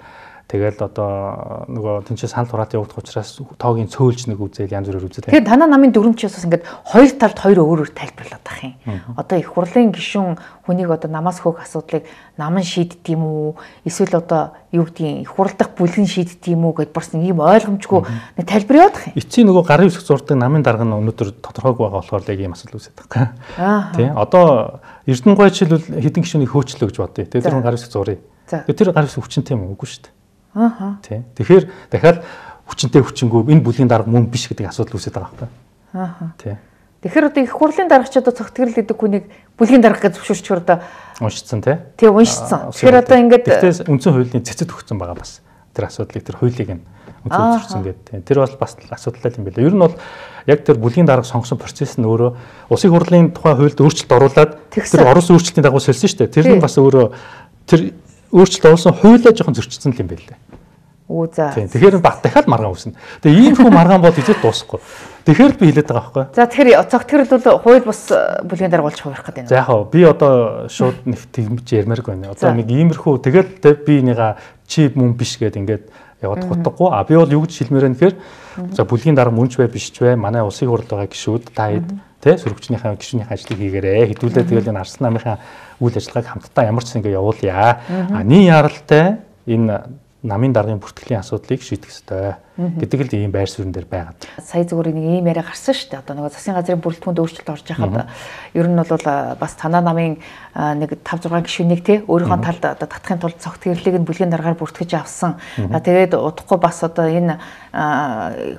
тэгэл одоо нөгөө тэнцээ санал хураат явагдах учраас тоогийн цөөлж нэг үзэл янз бүрээр үзэл. Тэгэхээр танаа намын дүрмчээс бас ингээд хоёр талд хоёр өөр тайлбарлаад байх юм. Одоо их хурлын гишүүн хүнийг одоо намаас хөөх асуудлыг нам нь шийддэг юм уу? Эсвэл одоо юу гэдгийг их хурлдах бүлгэн шийддэг юм уу гэд барсан ийм ойлгомжгүй нэг тайлбар явуулах юм. Эцсийн нөгөө гарын үсэг зурдаг намын дарга нь өнөөдөр тодорхойгүй байгаа болохоор яг ийм асуудал үүсэж байгаа. Тий. Одоо Эрдэнэ гойч хэлбэл хэдэн гишүүнийг хөөчлөө гэж бодъё. Тэр гарын үсэг зуръя. Тэр гарын үсэг хүчинтэй юм үгүй шүү дээ. Тий. Тэгэхээр дахиад хүчинтэй хүчингүү энэ бүлгийн дарга мөн биш гэдэг асуудал үүсэж байгаа байхгүй. Тий. Тэгэхээр одоо их хурлын даргач одоо цогтгөрл гэдэг хүнийг бүлгийн дарга гэж зөвшөөрчөр одоо уншицсан тий. Тий уншицсан. Тэгэхээр одоо ингээд тэгтээ үндсэн хуулийн цэцэд өгсөн байгаа бас. Тэр асуудлыг тэр хуулийг нь үзүүлсэн гэдэг. Тэр бол бас асуудалтай юм байна. Ер нь бол яг тэр бүлгийн дарга сонгосон процесс нь өөрөө улсын хурлын тухай хуульд өөрчлөлт оруулаад тэр орос өөрчлөлтийн дагуу солисон шүү дээ. Тэр нь бас өөрөө тэр өөрчлөлт оруулсан хуулиа жоохон зөрчилсөн юм байна лээ. Үу за. Тэгэхээр дахиад маргаан үүснэ. Тэгээ ийм хүн маргаан бол хэзээ дуусахгүй. Тэгэхээр би хэлээд байгаа байхгүй. За тэгэхээр цогтгөрл бол хууль бас бүлгийн дарга болж хувирах гэдэг юм. За яг би одоо шууд нэг тэгмж ярмааргүй байна. Одоо нэг иймэрхүү тэгээд би нэга чи мөн биш гэдэг ингээд яваад гутгахгүй. А би бол юу гэж хэлмээр байна гэхээр за бүлгийн дарга мөнч бай биш ч бай. Манай улсын хурлд байгаа гишүүд та хэд тэ сөрөгчнийхээ гишүүнийхээ ажлыг хийгээрэй. Хэдүүлээ тэгэл энэ арслан намынхаа үйл ажиллагааг хамтдаа ямар ч юм ингээ явуулъя. А нийн яралтай энэ намын даргын бүртгэлийн асуудлыг шийдэх ёстой гэдэг л ийм байр суурин дээр байгаа. Сая зүгээр нэг ийм яриа гарсан шүү дээ. Одоо нөгөө засгийн газрын бүрэлдэхүүнд өөрчлөлт орж байхад ер нь бол бас танаа намын нэг 5 6 гишүүнийг те өөрийнхөө талд одоо татахын тулд цогтгөрлийг нь бүлгийн даргаар бүртгэж авсан. Тэгээд удахгүй бас одоо энэ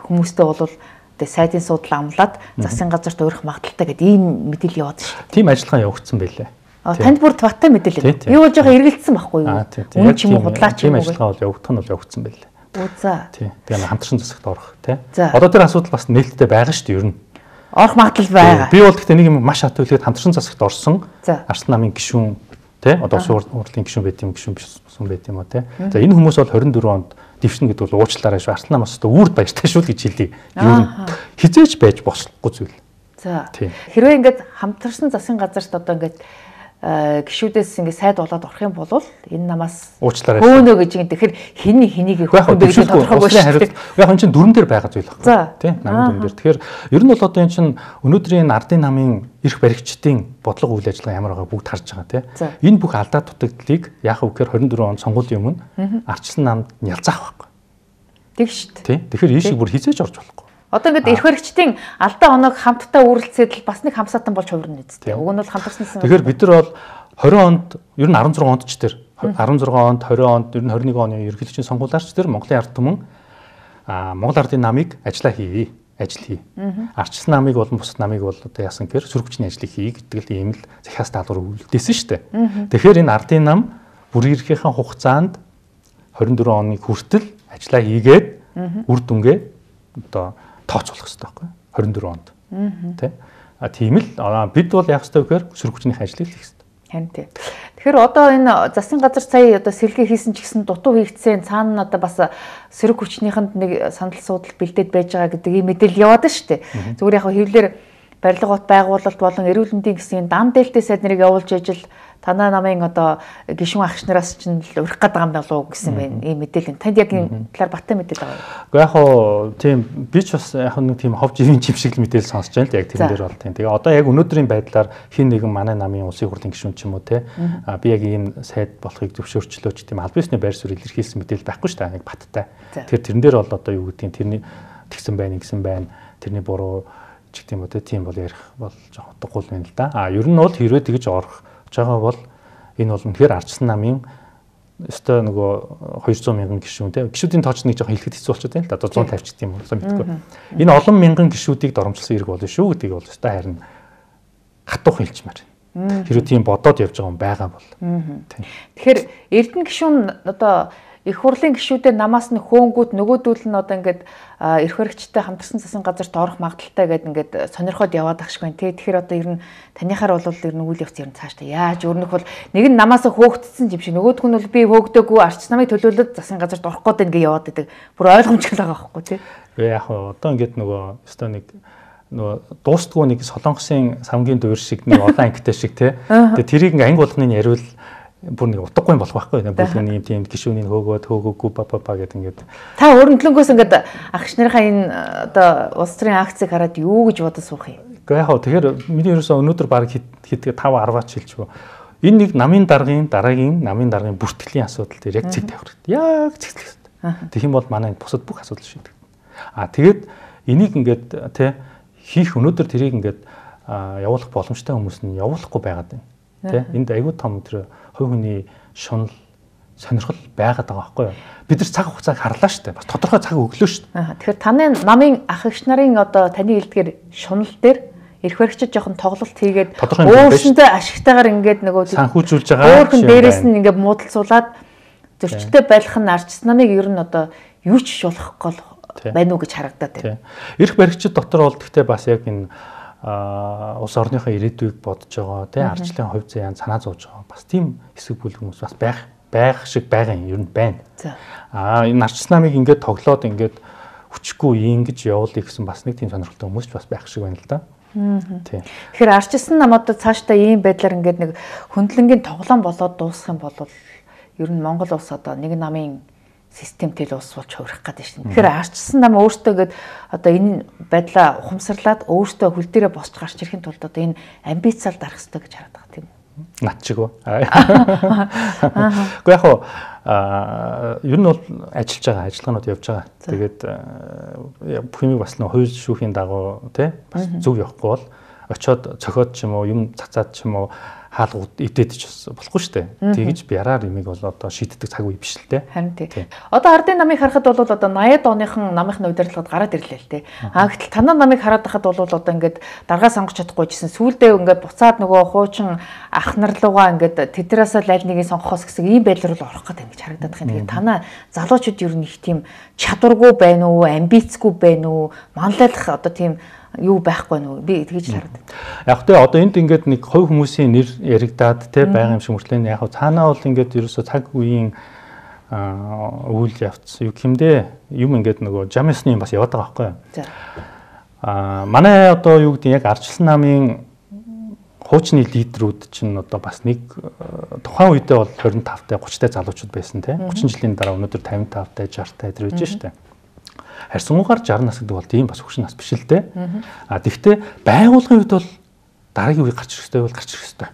хүмүүстэй бол сайдын суудлаа амлаад засгийн газарт өөрөх магадaltaй гэдэг ийм мэдээлэл яваад шүү. Тийм ажиллагаа явагдсан байлээ. Танд бүр тватай мэдээлэл. Би бол жоохон эргэлдсэн байхгүй юу? Үн ч юм уу худлаач юм уу? Тийм ажиллагаа бол явагдах нь бол явагдсан байлээ. Үу за. Тийм. Тэгээ хамтарсан засагт орох тий. Одоо тэр асуудал бас нээлттэй байгаа шүү дээ ер нь. Орох магадлал байгаа. Би бол гэхдээ нэг юм маш хат үлээд хамтарсан засагт орсон. Арслан намын гишүүн тий. Одоо улсын хурлын гишүүн байт юм гишүүн бишсэн байт юм уу тий. За энэ хүмүүс бол 24 онд дэвшнэ гэдэг бол уучлаарай шүү. Арслан намаас одоо үрд баяртай шүү л гэж хэлье. Ер нь хизээж байж болохгүй зүйл. За. Хэрвээ ингээд хамтарсан засгийн газарт одоо ингээд гişүүдээс ингээ сайд болоод орох юм бол энэ намаас уучлаарай хөөнө гэж юм. Тэгэхээр хэнийг хөхөн бэ гэж тодорхойгүй шүү. Яг энэ чинь дүрэн дээр байгаа зүйл байна. Тийм намын дүрэн дээр. Тэгэхээр ер нь бол одоо энэ чинь өнөөдрийн ардын намын эрх баригчдын бодлого үйл ажиллагаа ямар байгааг бүгд харж байгаа тийм. Энэ бүх алдаа дутагдлыг яах вэ гэхээр 24 он сонгуулийн өмнө ардчилсан намд нялзаах байхгүй. Тэг шүү дээ. Тийм. Тэгэхээр энэ шиг бүр хизээж орж болохгүй. Одоо ингээд эрх баригчдын алдаа оног хамтдаа үргэлжлээд бас нэг хамсаатан болж хувирна үсттэй. Уг нь бол хамтарсан. Тэгэхээр бид нар бол 20 онд ер нь 16 онд ч тэр 16 онд 20 онд ер нь 21 оны ерөнхийлөгчийн сонгуулиарч тэр Монголын ард түмэн Монгол Ардын намыг ажил хий. Ардчилсан намыг болон бусад намыг бол одоо яасан гэхээр сөрөг хүчний ажлыг хий гэдэг л ийм л захиас даалгавар үлдээсэн шүү дээ. Тэгэхээр энэ Ардын нам бүр ирэхийнхээ хугацаанд 24 оны хүртэл ажиллаа хийгээд үр дүнгээ одоо тооцоолох хэрэгтэй байхгүй 24 онд. Тэ? Тийм л бид бол яах ёстой вэ гэхээр сөрөг хүчний ажлыг хийх ёстой. Харин тий. Тэгэхээр одоо энэ засгийн газар сая одоо сэргээ хийсэн ч гэсэн дутуу хийгдсэн цаана одоо бас сөрөг хүчнийхэнд нэг санал суудал бэлдээд байж байгаа гэдэг ийм мэдээлэл яваад байна шүү дээ. Зүгээр яг хэвлэр барилга бот байгуулалт болон эрүүл мэндийн гэсэн дан дээлтэй сайд нарыг явуулж ажил танаа намын одоо гишүүн агч нараас ч л урих гэдэг юм болов уу гэсэн байна. Ийм мэдээлэл. Танд яг энэ талаар баттай мэдээлэл байгаа юу? Гэхдээ яг хоо тийм би ч бас яг нэг тийм хов живийн чим шиг л мэдээлэл сонсож байна л яг тэрэн дээр бол тийм. Тэгээ одоо яг өнөөдрийн байдлаар хин нэгэн манай намын улсын хурлын гишүүн ч юм уу те би яг ийм сайд болохыг зөвшөөрчлөөч тийм аль бисны байр суурь илэрхийлсэн мэдээлэл байхгүй шүү дээ. Нэг баттай. Тэгэхээр тэрэн дээр бол одоо юу гэдгийг тэрний тэгсэн байна гэсэн байна. Тэрний буруу ч гэх юм уу те тийм бол ярих бол жоохон утгагүй байна л да. Ер нь бол хэрвээ тэгж орох жагаа бол энэ бол үнэхээр ардчилсан намын өстой нөгөө 200 мянган гишүүн те гишүүдийн тооч нэг жоохон хэлэхэд хэцүү болчиход байна л да. Одоо 150 ч гэдэг юм уу мэдгүй. Энэ олон мянган гишүүдийг доромжилсан хэрэг болно шүү гэдгийг бол өстой харин хатуух хэлчмээр. Хэрвээ тийм бодоод явж байгаа юм байгаа бол. Тэгэхээр Эрдэнэ гишүүн одоо их хурлын гишүүдээр намаас нь хөөнгүүт нөгөөдүүл нь одоо ингээд эрх баригчтай хамтарсан засгийн газарт орох магадaltaй гэдэг ингээд сонирхоод яваад ах шиг байна тий. Тэгэхээр одоо ер нь танихаар бол ер нь үйл явц ер нь цаашдаа яаж өөрнөх бол нэг нь намаас хөөгдсөн юм шиг нөгөөх нь бол би хөөгдөөгүй арч намыг төлөөлөд засгийн газарт орох гээд ингээд яваад байдаг. Бүр ойлгомжтой байгаа байхгүй тий. Яг одоо ингээд нөгөө өстой нэг нөгөө дуустгүй нэг солонгосын самгийн дуур шиг нэг олон ангитай шиг тий. Тэгээ тэрийг ингээ анги болгоныг яриул бүр нэг утгагүй болох байхгүй нэ бүлгийн юм тийм гишүүнийг хөөгөөгүй ба гэдэг ингээд та өрнөдлөнгөөс ингээд агч нарынхаа энэ одоо улс төрийн акцийг хараад юу гэж бодож суух юм. Гэхдээ яг тэгэхээр миний ерөөсөө өнөөдөр баг хэд 5 10-аач хэлчихв. Энэ нэг намын дараагийн намын дараагийн бүртгэлийн асуудал дээр яг цэг тавих хэрэгтэй. Яг цэгцлэх хэрэгтэй. Тэгэх юм бол манай бусад бүх асуудал шийдэх. Тэгээд энийг ингээд тий хийх өнөөдөр тэрийг ингээд явуулах боломжтой хүмүүс нь явуулахгүй байгаад байна. Тэ энд аягүй том тэр хувь хүний шунал сонирхол байгаад байгаа байхгүй юу? Бид нар цаг хугацааг харлаа шүү дээ. Бас тодорхой цаг өглөө шүү дээ. Тэгэхээр таны намын ах эгч нарын одоо таны хэлдгээр шунал дээр эрх баригчид жоохон тоглолт хийгээд өөрсөндөө ашигтайгаар ингээд нөгөө санхүүжүүлж байгаа. Өөрхөн дээрээс нь ингээд муудалцуулаад зөрчилтэй байх нь арчсан намыг ер нь одоо юу ч шулах гол байна уу гэж харагдаад байна. Эрх баригчид дотор бол гэхдээ бас яг энэ улс орныхоо ирээдүйг бодож байгаа тий ардчлалын хувь заяан санаа зовж байгаа бас тийм хэсэг бүл хүмүүс бас байх шиг байгаа юм ер нь байна. Энэ ардчлал намыг ингээд тоглоод ингээд хүчгүй ингэж явуулъя гэсэн бас нэг тийм сонирхолтой хүмүүс ч бас байх шиг байна л да. Тийм. Тэгэхээр ардчлал нам одоо цаашдаа ийм байдлаар ингээд нэг хөндлөнгийн тоглоом болоод дуусах юм бол ер нь Монгол улс одоо нэг намын системтэй л улс болж хувирах гэдэг шин. Тэгэхээр ардчилсан нам өөртөө гээд одоо энэ байдлаа ухамсарлаад өөртөө хөл дээрээ босч гарч ирэхин тулд одоо энэ амбицаар дарах хэрэгтэй гэж хараад байгаа тийм үү? Над чиг үү. Гэхдээ яг ер нь бол ажиллаж байгаа, ажиллагаанууд явж байгаа. Тэгээд бүх юм бас нөө хууль шүүхийн дагуу тий бас зөв явахгүй бол очиод цохиод ч юм уу юм цацаад ч юм уу хаалгууд эвдээд ч болохгүй шүү дээ. Тэгэж бяраар юмыг бол одоо шийддэг цаг үе биш л дээ. Харин тий. Одоо ардын намыг харахад бол одоо 80-ад оныхон намынхны удирдлагад гараад ирлээ л тий. Гэтэл танаа намыг хараад байхад бол одоо ингээд даргаа сонгож чадахгүй гэсэн сүүлдээ ингээд буцаад нөгөө хуучин ах нар руугаа ингээд тэднээс л аль нэгийг сонгохоос гэсэн ийм байдлаар л орох гэдэг ингэж харагдаад байна. Тэгэхээр танаа залуучууд ер нь их тийм чадваргүй байна уу, амбицгүй байна уу, манлайлах одоо тийм юу байхгүй нөө би тэгж харагдав. Яг тэ одоо энд ингээд нэг хувь хүмүүсийн нэр яригадаад те байгаа юм шиг мөртлөө яг цаанаа бол ингээд ерөөсө цаг үеийн үйл явц юу гэмдэ юм ингээд нөгөө жамсны юм бас яваад байгаа байхгүй юу. Манай одоо юу гэдэг яг ардчилсан намын хуучны лидерүүд чинь одоо бас нэг тухайн үедээ бол 25 та 30 та залуучууд байсан те 30 жилийн дараа өнөөдөр 55 та 60 та идэр байж штэ. Харьцангуйгаар 60 нас гэдэг бол тийм бас хөвшин нас биш л дээ. Тэгвэл байгууллагын үед бол дараагийн үеийг гарч ирэх хэрэгтэй бол гарч ирэх хэрэгтэй.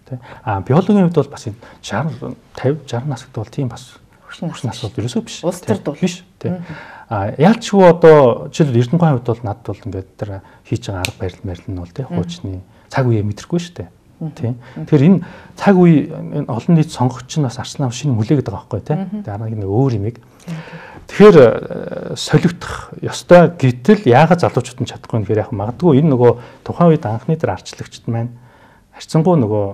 Тэ. Биологийн үед бол бас 60 50 60 нас гэдэг бол тийм бас хөвшин нас бол ерөөсөө биш. Улс төрд бол биш. Тэ. Яалчгүй одоо жишээл Эрдэнэгийн хувьд бол надад бол ингээд тэр хийж байгаа арга барил нь бол тэ хуучны цаг үеэ мэдрэхгүй шүү дээ. Тийм. Тэгэхээр энэ цаг үе олон нийт сонгогч нь бас Арслан нам шинэ хүлээгээд байгаа байхгүй тийм. Дараагийн нэг өөр юмэг. Тэгэхээр солигдох ёстой гэтэл яагаад залуучууд нь чадахгүй нэхэр яг магадгүй энэ нөгөө тухайн үед анхны дээр арчлагчд маань харьцангуй нөгөө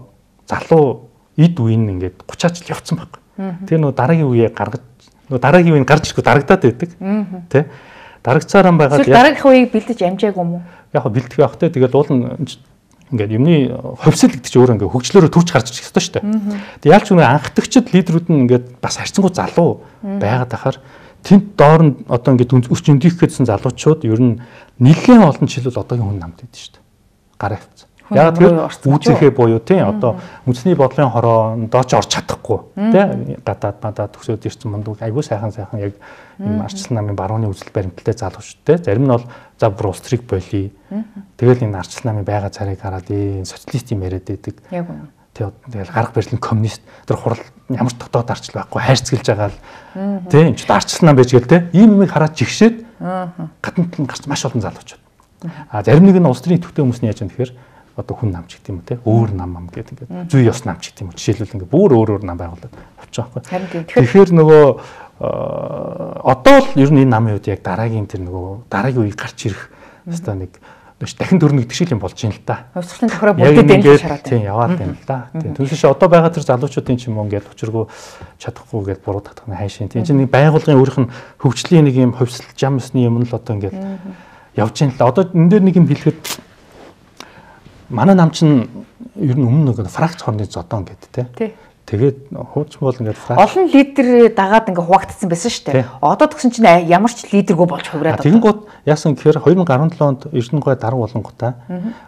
залуу эд үеийн ингээд 30-аад жил явцсан байхгүй. Тэр нөгөө дараагийн үеэ гаргаж нөгөө дараагийн үеийг гарч ирэхгүй дарагдаад байдаг. Тэ? Дарагцаараа байгаад дараагийн үеийг бэлдэж амжаагүй юм уу? Яг бэлдэх явах те тэгэл уул нь ингээд юмны ховсол гэдэг чинь өөр ингээд хөгжлөөрөө төрж гарч ирэх ёстой шүү дээ. Тэг яалч үнэ анхдагчд лидерүүд нь ингээд бас харьцангуй залуу байгаад ахаар тэнд доор нь одоо ингээд өсч өндих гэсэн залуучууд ер нь нэлээд олон жил бол одоогийн хүн намд идэв шүү дээ. Гараа авцсан. Яг тэр үүсэхээ буюу тийм одоо үндэсний бодлогын хороондоо ч орж чадахгүй тийм гадаад мадаа төгсөөд ирсэн мундаг айгүй сайхан яг юм Арчлан намын барууны үзэл баримталтай залуучдтэй зарим нь бол за бүр улс төрийг болий тэгэл энэ Арчлан намын байга царайг хараад энэ социалист юм яриад байдаг. Яг үнэ. Тэгэл гарга барилын коммунист тэр хурал ямар ч дотоод арчил байхгүй хайрцгэлж байгаа л тийм ч Арчлан нам байж гээл тийм ийм юмыг хараад жигшээд гаднад нь гарч маш олон залуучууд. А зарим нэг нь улс төрийн төвтэй хүмүүс нь яаж юм тэгэхээр одоо хүн намч гэдэг юм уу те өөр нам гэдэг ингээд зүй ёс намч гэдэг юм уу жишээлбэл ингээд бүр өөр нам байгуулад авчих байхгүй. Тэгэхээр нөгөө одоо л ер нь энэ намын үед яг дараагийн тэр нөгөө дараагийн үеийг гарч ирэх хэвээр нэг дахин төрнө гэдэг шиг юм болж байна л да. Хувьсгалын тохироо бүгдээ дэмжиж хараад. Тийм яваад байна л да. Тийм түүнээс одоо байгаа тэр залуучуудын ч юм уу ингээд учиргүй чадахгүй гээд буруу татах нь хайшин. Тийм чинь нэг байгууллагын өөрийнх нь хөгжлийн нэг юм хувьсэл жамсны юм л одоо ингээд явж байна л да. Одоо энэ дээр нэг юм хэлэхэд манай нам чинь ер нь өмнө нэг фракц хорны зодон гэдэг те. Тэгээд хуучин бол ингээд олон лидер дагаад ингээд хуваагдсан байсан шүү дээ. Одоо тэгсэн чинь ямар ч лидергүй болж хувираад байна. Тэгэнгუთ яасан гэхээр 2017 онд Эрдэнэгүй дарга болонгуудаа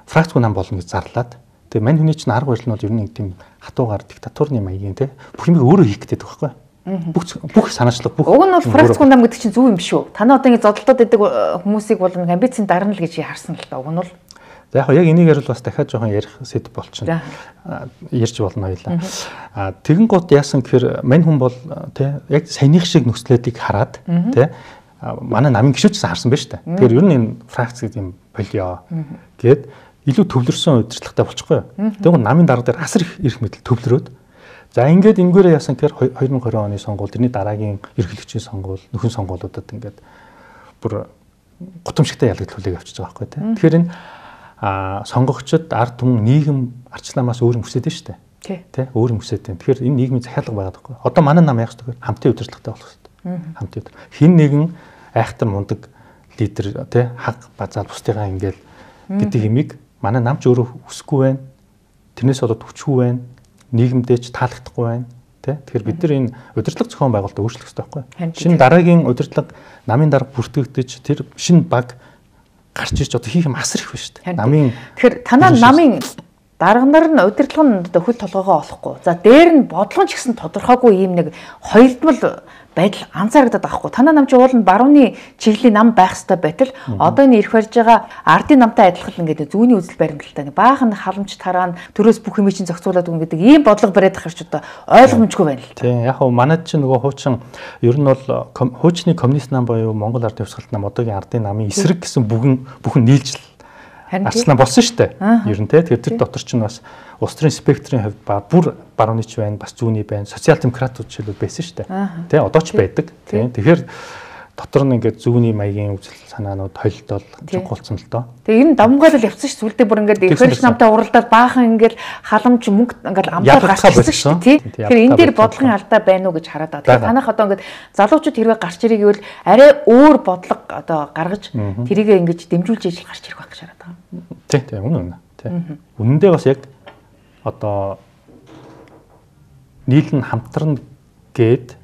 фракцгүй нам болно гэж зарлаад. Тэгээд мань хүний чинь арга барил нь бол ер нь нэг тийм хатуугаар диктатурны маягийн те. Бүх юм өөрөө хийх гэдэг байхгүй. Бүх санаачлаг бүх. Уг нь бол фракцгүй нам гэдэг чинь зөв юм шүү. Танаа одоо ингээд зодолтод байдаг хүмүүсийг бол нэг амбицийн дарна л гэж харсан л да. Уг нь бол за яг энэ ярил бас дахиад жоохон ярих сэдв болчихно. Ярьж болно хоёлаа. Тэгэн гут яасан гэхээр мань хүн бол тий яг саяных шиг нөхцлөдийг хараад тий манай намын гишүүдсэн харсан байна шүү дээ. Тэгэхээр ер нь энэ фракц гэдэг юм болио гэд илүү төвлөрсөн удирдлагатай болчихгүй юу. Тэгвэл намын дарга дээр асар их мэдл төвлөрөөд за ингээд ингээрээ яасан гэхээр 2020 оны сонгуул тэрний дараагийн ерөнхийлөгчийн сонгуул нөхөн сонгуулиудад ингээд бүр гутамшигтай ялгдлуулыг авчиж байгаа байхгүй тий. Тэгэхээр энэ сонгогчд ард түмэн нийгэм арчламаас өөр юм хүсэж байна шүү дээ. Тэ өөр юм хүсэж байна. Тэгэхээр энэ нийгмийн захиалга байгаад байхгүй. Одоо манай нам яг ч тэгэхээр хамтын удирдлагатай болох хэрэгтэй. Хамтын. Хин нэгэн айхтар мундаг лидер тэ хаг базаал бусдыгаа ингээл гэдэг юмыг манай нам ч өөрөө хүсэхгүй байна. Тэрнээс болоод хүчгүй байна. Нийгэмдээ ч таалагдахгүй байна. Тэ тэгэхээр бид нар энэ удирдлага зохион байгуулалтаа өөрчлөх хэрэгтэй байхгүй. Шинэ дараагийн удирдлага намын дарга бүртгэгдэж тэр шинэ баг гарч ирж одоо хийх юм асар их байна шүү дээ. Намын тэгэхээр танаа намын дарга нар нь удирдлага нь одоо хөл толгоогоо олохгүй. За дээр нь бодлого ч гэсэн тодорхойгүй ийм нэг хоёрдмал байдал анзаарагдаад байхгүй. Танаа нам чи уул нь барууны чиглэлийн нам байх ёстой байтал одоо энэ ирэх барьж байгаа ардын намтай адилхан ингээд зүүнний үзэл баримталтай баахан халамж тараан төрөөс бүх юм чинь зохицуулаад өгнө гэдэг ийм бодлого бариад ахарч одоо ойлгомжгүй байна л. Тийм яг хөө манайд чи нөгөө хуучин ер нь бол хуучны коммунист нам боيو Монгол Ардын Хувьсгалт нам одоогийн ардын намын эсрэг гэсэн бүхэн нийлж арслан болсон шүү дээ. Ер нь тэгэхээр тэр дотор чинь бас улс төрийн спектрийн хувьд бүр барууныч байна, бас зүүнний байна, социал демократууд жишээлбэл байсан шүү дээ. Тэ одоо ч байдаг. Тэгэхээр дотор нь ингээд зүүнний маягийн үзэл санаанууд холилдол чухалцсан л доо. Тэгээ ер нь давмгаалал явсан шүү. Сүлдээ бүр ингээд ихэрч намтай уралдаад баахан ингээд халамж мөнгө ингээд амтаар гарчихсан шүү тий. Тэгэхээр энэ дээр бодлогын алдаа байна уу гэж хараад байгаа. Танах одоо ингээд залуучууд хэрвээ гарч ирэх гэвэл арай өөр бодлого одоо гаргаж тэрийгээ ингээд дэмжүүлж ижил гарч ирэх байх гэж хараад байгаа. Тий, үнэн. Тий. Үнэндээ бас яг одоо нийлэн хамтран гээд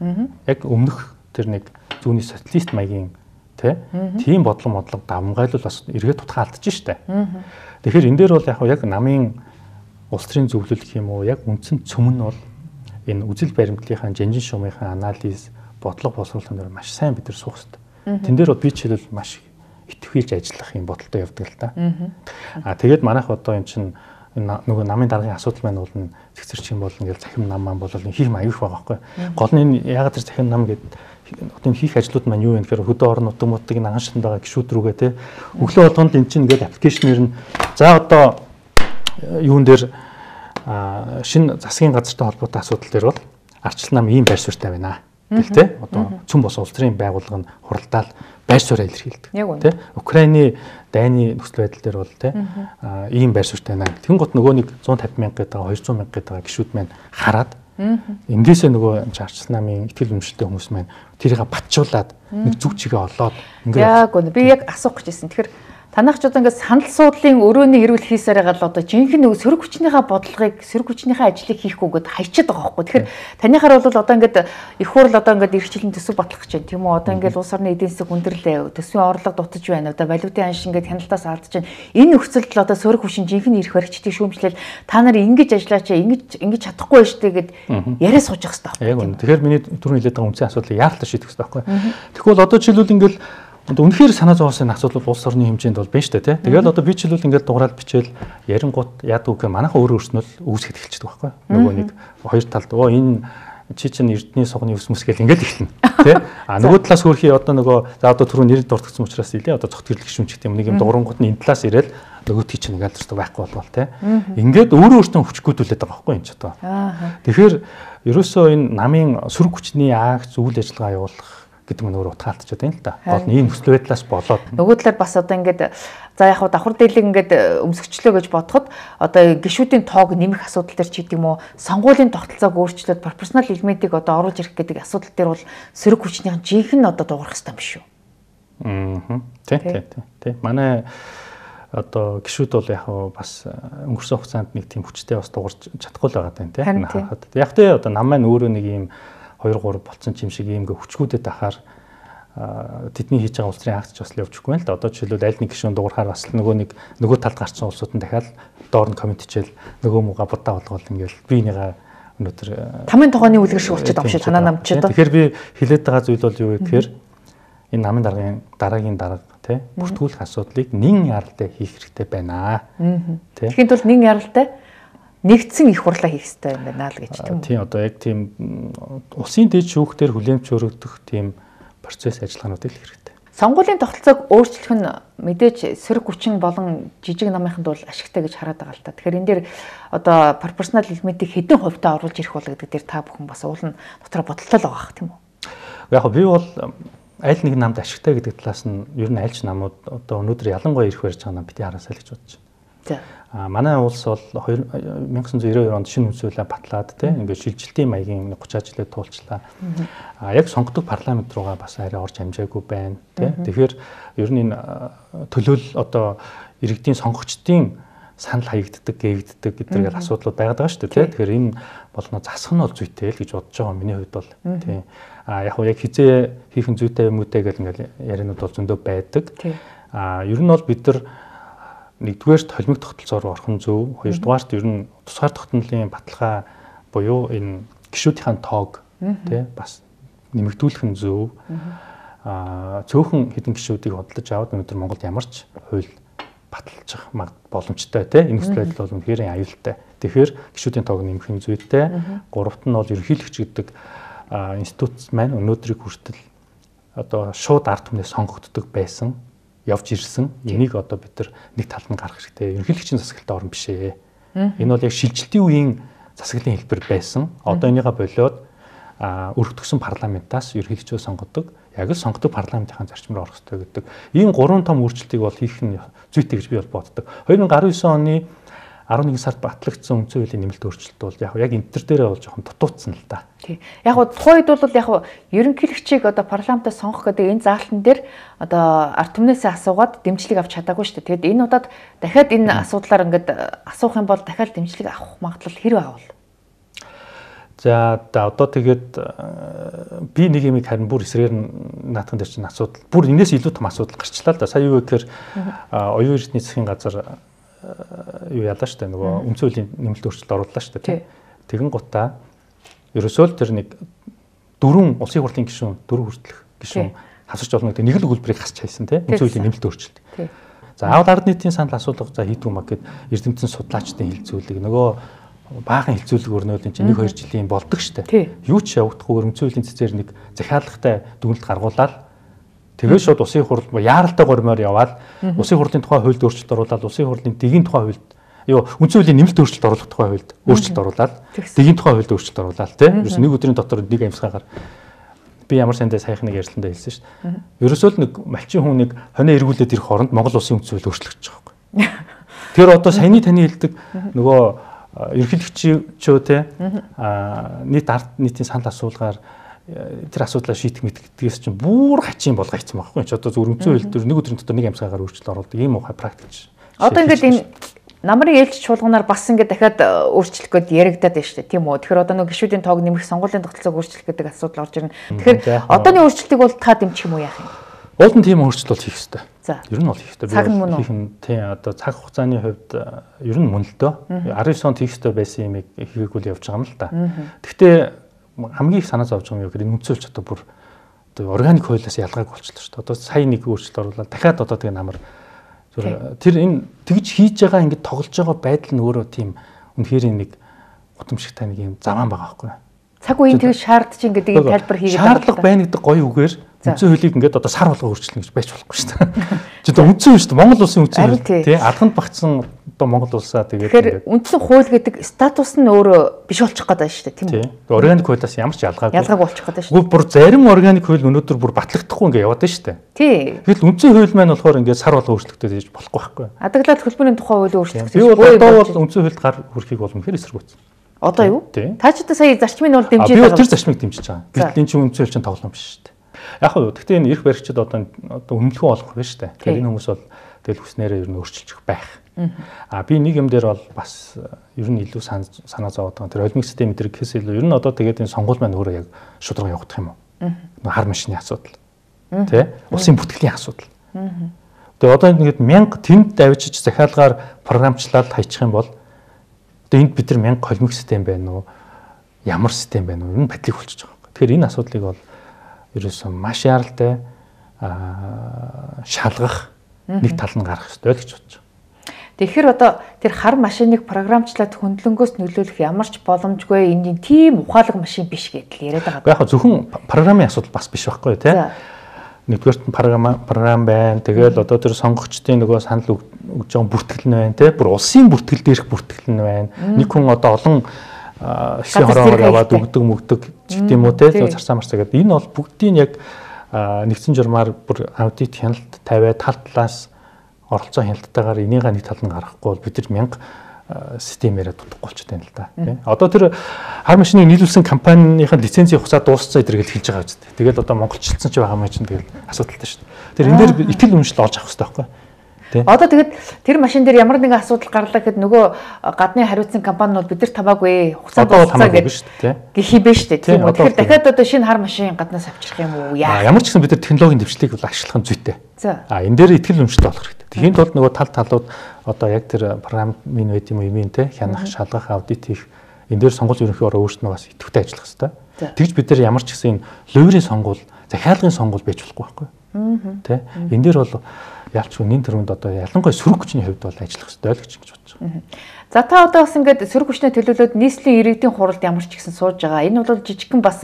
яг өмнөх тэр нэг зүүнний социалист маягийн тийм бодлого давмгайлал бас эргээд тутахаа алдчих штэ. Тэгэхээр энэ дээр бол яг намын улс төрийн зөвлөл гэх юм уу яг үндсэн цөм нь бол энэ үзэл баримтлалынхаа жанжин шуумынхаа анализ бодлого боловсруулалтын дээр маш сайн бид нар суух хэрэгтэй. Тэн дээр бол би жишээлбэл маш итгэвүүлж ажиллах юм бодолтой явдаг л да. Тэгээд манайх одоо эн чинь нөгөө намын даргын асуудал маань бол цэгцэрч юм бол ингээл захим нам маань бол хийх аюух байгаа байхгүй. Гол нь энэ ягаад тэр захим нам гэдэг одоо хийх ажлууд маань юу вэ гэхээр хөдөө орон нутаг муудыг анхаарчсан байгаа гишүүд рүүгээ те өглөө болгонд эн чинь ингээд аппликейшнээр нь за одоо юун дээр шинэ засгийн газартай холбоотой асуудал дээр бол ардчлал нам ийм байр суурьтай байна. Гэлтэй одоо цөм бос улс төрийн байгууллага нь хуралдаал байр суурьаа илэрхийлдэг. Тэ Украины дайны нөхцөл байдал дээр бол тэ ийм байр суурьтай байна. Тэгэн гот нөгөө нэг 150 мянга гэдэг 200 мянга гэдэг гишүүд маань хараад эндээсээ нөгөө ардчлал намын итгэл үнэмшилтэй хүмүүс маань тэрийг батжуулаад нэг зүг чигээ олоод ингээд яг үнэ би яг асуух гэжсэн. Тэгэхээр танайх ч одоо ингээд санал суудлын өрөөний хэрүүл хийсээр байгаа л одоо жинхэнэ нөгөө сөрөг хүчнийхээ бодлогыг сөрөг хүчнийхээ ажлыг хийхгүйгээд хайчаад байгаа байхгүй. Тэгэхээр танийхаар бол одоо ингээд их хурл одоо ингээд эрхчлэн төсөв батлах гэж байна тийм үү? Одоо ингээд улс орны эдийн засаг хүндрэлээ, төсвийн орлого дутаж байна. Одоо валютын анш ингээд хяналтаас алдаж байна. Энэ нөхцөлд л одоо сөрөг хүчин жинхэнэ эрх баригчдыг шүүмжлэл та нар ингэж ажиллаач, ингэж чадахгүй байж тээ гэд яриа сууж явах хэрэгтэй байхгүй. Тэгэхээр миний түрүүн хэлээд байгаа үндсэн асуудлыг яаралтай шийдэх хэрэгтэй байхгүй. Тэгвэл одоо жишээлбэл ингээд үнэхээр санаа зовоосон асуудал улс орны хэмжээнд бол байна шүү дээ тий. Тэгэл одоо би ч л ингээд дугаараад бичээл ярингууд яадаг гэх манайха өөрөө өөрснөө л үүсгэж эхэлчихдэг байхгүй. Нөгөө нэг хоёр талд энэ чи чинь эрдний сугны ус мөс гэл ингээд эхэлнэ тий. Нөгөө талаас хөрхий одоо нөгөө за одоо түрүү нэр дурдгдсан учраас илээ одоо цогт гэрлэх шүмч гэх юм нэг юм дуурангууд нь энэ талаас ирээл нөгөө тий чинь ингээд ч байхгүй болвол тий. Ингээд өөрөө өөртөө хүчгүүдүүлээд байгаа байхгүй энэ ч одоо. Тэгэхээр ерөөсөө энэ намын сөрөг хүчний агц үйл ажиллагаа явуулах гэдэг нь өөр утгаалтчаад байна л да. Гол нь ийм нөхцөл байдлаас болоод нөгөө талаар бас одоо ингээд за яг хаа давхар дийлэг ингээд өмсгчлөө гэж бодоход одоо гишүүдийн тоог нэмэх асуудал төр ч гэдэг юм уу сонгуулийн тогтолцоог өөрчлөөд пропорционал элементийг одоо оруулж ирэх гэдэг асуудал дээр бол сөрөг хүчнийхэн жинхэнэ одоо дуурах хэрэгтэй юм биш үү? Тий. Манай одоо гишүүд бол яг бас өнгөрсөн хугацаанд нэг тийм хүчтэй бас дуурч чадахгүй л байгаа даа тий. Яг тэ одоо нам маань өөрөө нэг ийм 2 3 болцсон юм шиг ийм хүчгүүдэд ахаар тэдний хийж байгаа улс төрийн акц ч бас явчихгүй байна л да. Одоо жишээлбэл аль нэг гишүүн дуурахаар бас нөгөө талд гарсан улсууд нь дахиад доор нь комент хичээл нөгөө мууга будаа болгоол ингээл би энийгээ өнөөдөр тамийн тогооны үлгэр шиг болчиход байгаа юм шиг танаа намч одоо. Тэгэхээр би хэлээд байгаа зүйл бол юу вэ гэхээр энэ намын дараагийн дарга тий бүртгүүлэх асуудлыг нэн яралтай хийх хэрэгтэй байна. Тэгэхэд бол нэн яралтай нэгдсэн их хурлаа хийх хэрэгтэй юм байна л гэж тийм үү? Тийм одоо яг тийм улсын дэд шүүхтэр хүлээмж өргөдөх тийм процесс ажиллагаануудыг хэрэгтэй. Сонгуулийн тогтолцоог өөрчлөх нь мэдээж сөрөг хүчин болон жижиг намынханд бол ашигтай гэж хараад байгаа л та. Тэгэхээр энэ дээр одоо пропорционал элементийг хэдэн хувьтай оруулж ирэх бол гэдэг дээр та бүхэн бас уулын дотроо бодолтой л байгаа тийм үү? Яг би бол аль нэг намд ашигтай гэдэг талаас нь ер нь альч намууд одоо өнөөдөр ялангуяа ирэх барьж байгаа нам бити хараасаа л гэж бодож байна. Манай улс бол 1992 онд шинэ үндсүүлээ батлаад тийм ингээд шилжилтийн маягийн 30 жилээ туулчлаа. Яг сонгодог парламент руугаа бас арай орж амжаагүй байна тийм. Тэгэхээр ер нь энэ төлөөлөл одоо иргэдийн сонгогчдын санал хаягддаг, гээгддэг гэдгээр асуудлууд байгаад байгаа шүү дээ тийм. Тэгэхээр энэ болно засах нь бол зүйтэй л гэж бодож байгаа миний хувьд бол тийм. Яг яг хизээ хийх нь зүйтэй юм үүтэй гэл ингээд яриануд бол зөндөө байдаг. Ер нь бол бид нар нэгдүгээр толимог тогтолцоор орох нь зөв. Хоёрдугаарт ер нь тусгаар тогтнолын баталгаа буюу энэ гишүүдийн тоог тий бас нэмэгдүүлэх нь зөв. Цөөхөн хэдэн гишүүдийг бодлож аваад өнөөдөр Монголд ямар ч хууль баталчих боломжтой тий энэ нөхцөл байдал бол үнэхээр аюултай. Тэгэхээр гишүүдийн тоог нэмэх нь зүйтэй. Гуравт нь бол ерөнхийлөгч гэдэг институт маань өнөөдрийг хүртэл одоо шууд ард түмнээ сонгогддог байсан. Явж ирсэн. Энийг одоо бид нэг талд нь гаргах хэрэгтэй. Ерөнхийлөгчийн засаглалтаа орон биш ээ. Энэ бол яг шилжилтийн үеийн засаглалын хэлбэр байсан. Одоо энийгээ болоод өргөдгсөн парламентаас ерөнхийлөгчөө сонгодог. Яг л сонгодог парламентын зарчмаар орох хэрэгтэй гэдэг. Ийм гурван том өөрчлөлтийг бол хийх нь зүйтэй гэж би бол боддог. 2019 оны 11 сард батлагдсан үндсэн хуулийн нэмэлт өөрчлөлт бол яг энэ төр дээрээ бол жоохон дутуудсан л да. Тий. Яг тухайн үед бол яг ерөнхийлөгчийг одоо парламентаас сонгох гэдэг энэ заалтан дээр одоо ард түмнээсээ асуугаад дэмжлэг авч чадаагүй шүү дээ. Тэгэд энэ удаад дахиад энэ асуудлаар ингээд асуух юм бол дахиад дэмжлэг авах магадлал хэрэг авал. За одоо тэгээд би нэг юм харин бүр эсрээр наадхан дээр чинь асуудал бүр энэс илүү том асуудал гарчлаа л да. Сая юу гэхээр оюун эрдэнэ засгийн газар юу ялаа штэ нөгөө үндсэн хуулийн нэмэлт өөрчлөлт орууллаа штэ тийм. Тэгэн гутаа ерөөсөө л тэр нэг 4 улсын хурлын гишүүн 4 хүртэлх гишүүн хасарч болно гэдэг нэг л өгүүлбэрийг хасч хайсан тийм үндсэн хуулийн нэмэлт өөрчлөлт. За аваад ард нийтийн санал асуулга за хийдгүү маа гэд эрдэмтэн судлаачдын хэлцүүлэг нөгөө баахан хэлцүүлэг өрнөд энэ чинь 1-2 жилийн болдог штэ. Юу ч явагдахгүйгээр үндсэн хуулийн цэцээр нэг захиалгатай дүгнэлт гаргуулаад тэгээд шууд улсын хурл яаралтай гормоор яваад улсын хурлын тухай хуульд өөрчлөлт оруулаад улсын хурлын дэгийн тухай хуульд Юу үндсэн хуулийн нэмэлт өөрчлөлт оруулах тухай хуульд өөрчлөлт оруулаад дэгийн тухай хуульд өөрчлөлт оруулаад тийм ерөөс нэг өдрийн дотор нэг амьсгаагаар би ямар сандаа саяхан нэг ярилцлаганд хэлсэн шүү дээ. Ерөөсөө л нэг малчин хүн нэг хонио эргүүлээд ирэх хооронд Монгол улсын үндсэн хууль өөрчлөгдөж байгаа байхгүй. Тэр одоо саяны таны хэлдэг нөгөө ерөнхийлөгчөө те нийтийн санал асуулгаар тэр асуудлаа шийдэх мэддгээс чинь бүр хачин болгоцсон байхгүй. Чи одоо зөв үндсэн хууль дээр нэг өдрийн дотор нэг амьсгаагаар өөрчлөлт оруулдаг ийм ухаан практик. Одоо ингээд энэ намрын ээлж чуулганаар бас ингээд дахиад өөрчлөх гээд яригадаад байна шүү дээ. Тийм үү. Тэгэхээр одоо нэг гишүүдийн тоог нэмэх, сонгуулийн тогтолцоог өөрчлөх гэдэг асуудал орж ирнэ. Тэгэхээр одооны өөрчлөлтийг бол та дэмжих юм уу яах юм? Уул нь тийм өөрчлөлт бол хийх ёстой. Ер нь бол хийх ёстой. Цаг нь мөн үү? Тийм одоо цаг хугацааны хувьд ер нь мөн л дөө. 19 онд хийх ёстой байсан юмыг хийгээгүй л явж байгаа юм л да. Гэхдээ хамгийн их санаа зовж байгаа юм юу гэхээр энэ үндсэлч одоо бүр одоо органик хуулиас ялгааг болчихлоо шүү дээ. Одоо сая нэг өөрчлөлт оруулаад дахиад одоо тэгээ намар тэр энэ тэгж хийж байгаа ингэж тоглож байгаа байдал нь өөрөө тийм үнэхээр нэг гутамшигтай нэг юм заваан байгаа байхгүй. Цаг үеийн тэгж шаардж ингээд ийм тайлбар хийгээд байгаа. Шаардлага байна гэдэг гоё үгээр үндсэн хуулийг ингээд одоо сар болго өөрчлөнө гэж байж болохгүй шүү дээ. Чи одоо үндсэн шүү дээ. Монгол улсын үндсэн хууль тий алханд багтсан одоо Монгол улсаа тэгээд тэгэхээр үндсэн хууль гэдэг статус нь өөрөө биш болчих гээд байна шүү дээ тийм үү? Органик хуулиас ямар ч ялгаагүй болчих гээд байна шүү дээ. Бүр зарим органик хууль өнөөдөр бүр батлагдахгүй ингээд яваад байна шүү дээ. Тий. Тэгэл үндсэн хууль маань болохоор ингээд сар болго өөрчлөлтөд хийж болохгүй байхгүй. Адаглал хөлбөрийн тухай хууль өөрчлөлт гэж одоо бол үндсэн хуульд гар хүрхийг бол үнэхээр эсэргүүцсэн. Одоо юу? Та ч одоо сая зарчмыг бол дэмжиж байгаа. Би тэр зарчмыг дэмжиж байгаа. Гэтэл энэ чинь үндсэн хууль чинь тоглоом биш шүү дээ. Яг нь гэхдээ энэ эрх баригчид одоо өмнөлгөө олох байна шүү дээ. Тэгэхээр энэ хүмүүс бол тэгэл хүснээрээ ер нь өөрчилчих байх. Би нэг юм дээр бол бас ер нь илүү санаа зовоод байгаа. Тэр холимог систем дээр гэхээс илүү ер нь одоо тэгээд энэ сонгуул маань өөрөө яг шударга явагдах юм уу? Хар машины асуудал. Тэ? Улсын бүртгэлийн асуудал. Тэгээд одоо ингээд 1000 тэнд давжиж захиалгаар програмчлаад хайчих юм бол одоо энд бид нар 1000 холимог систем байна уу? Ямар систем байна уу? Энэ бодлыг болчихж байгаа. Тэгэхээр энэ асуудлыг бол ерөөсөн маш яралтай шалгах нэг тал нь гарах хэрэгтэй л гэж бодож байна. Тэгэхээр одоо тэр хар машиныг програмчлаад хөндлөнгөөс нөлөөлөх ямар ч боломжгүй энэ тийм ухаалаг машин биш гэдэл яриад байгаа. Яг зөвхөн програмын асуудал бас биш байхгүй тий. Нэгдүгээрт програм байна. Тэгэл одоо тэр сонгогчдын нөгөө санал өгж байгаа бүртгэл нь байна тий. Бүр улсын бүртгэл дээрх бүртгэл нь байна. Нэг хүн одоо олон хэсгийн хороогоор яваад өгдөг гэдэг юм уу тий. Зарцаа марцаа гэдэг. Энэ бол бүгдийг яг нэгдсэн журмаар бүр аудит хяналт тавиад тал талаас оролцоо хяналтайгаар энийг нэг тал нь гаргахгүй бол бид нар 1000 системээрээ дутахгүй болчиход байна л да. Тий. Одоо тэр хар машиныг нийлүүлсэн компанийн лицензийн хугацаа дууссан зэрэг хэлж байгаа үст. Тэгээд одоо монголчилсан ч байгаа юм чинь тэгэл асуудалтай шүү дээ. Тэр энэ дээр итгэл үнэмшил олж авах хэрэгтэй байхгүй. Одоо тэгээд тэр машин дээр ямар нэгэн асуудал гарлаа гэхэд нөгөө гадны хариуцсан компани бол бид нар тамаагүй хугацаа дууссан гэдэг гэх юм биш үү тийм үү. Тэгэхээр дахиад одоо шинэ хар машин гаднаас авчрах юм уу яа. Ямар ч гэсэн бид нар технологийн дэвшлийг бол ашиглах нь зүйтэй. Энэ дээр итгэл үнэмшил олох хэрэгтэй. Тэхийн тулд нөгөө талууд одоо яг тэр програмын байд юм уу юм те хянах, шалгах, аудит хийх энэ дээр сонгуул ерөнхий ороо өөрснөө бас идэвхтэй ажиллах хэрэгтэй. Тэгж бид нар ямар ч гэсэн энэ ловерийн сонгуул, захиалгын сонгуул байж болохгүй байхгүй. Тэ энэ дээр бол ялч үнийн төрөнд одоо ялангуяа сөрөг хүчний хувьд бол ажиллах хэрэгтэй л гэж бодож байгаа. За та одоо бас ингээд сөрөг хүчний төлөөлөлд нийслэлийн иргэдийн хуралд ямар ч гэсэн сууж байгаа. Энэ бол жижигхэн бас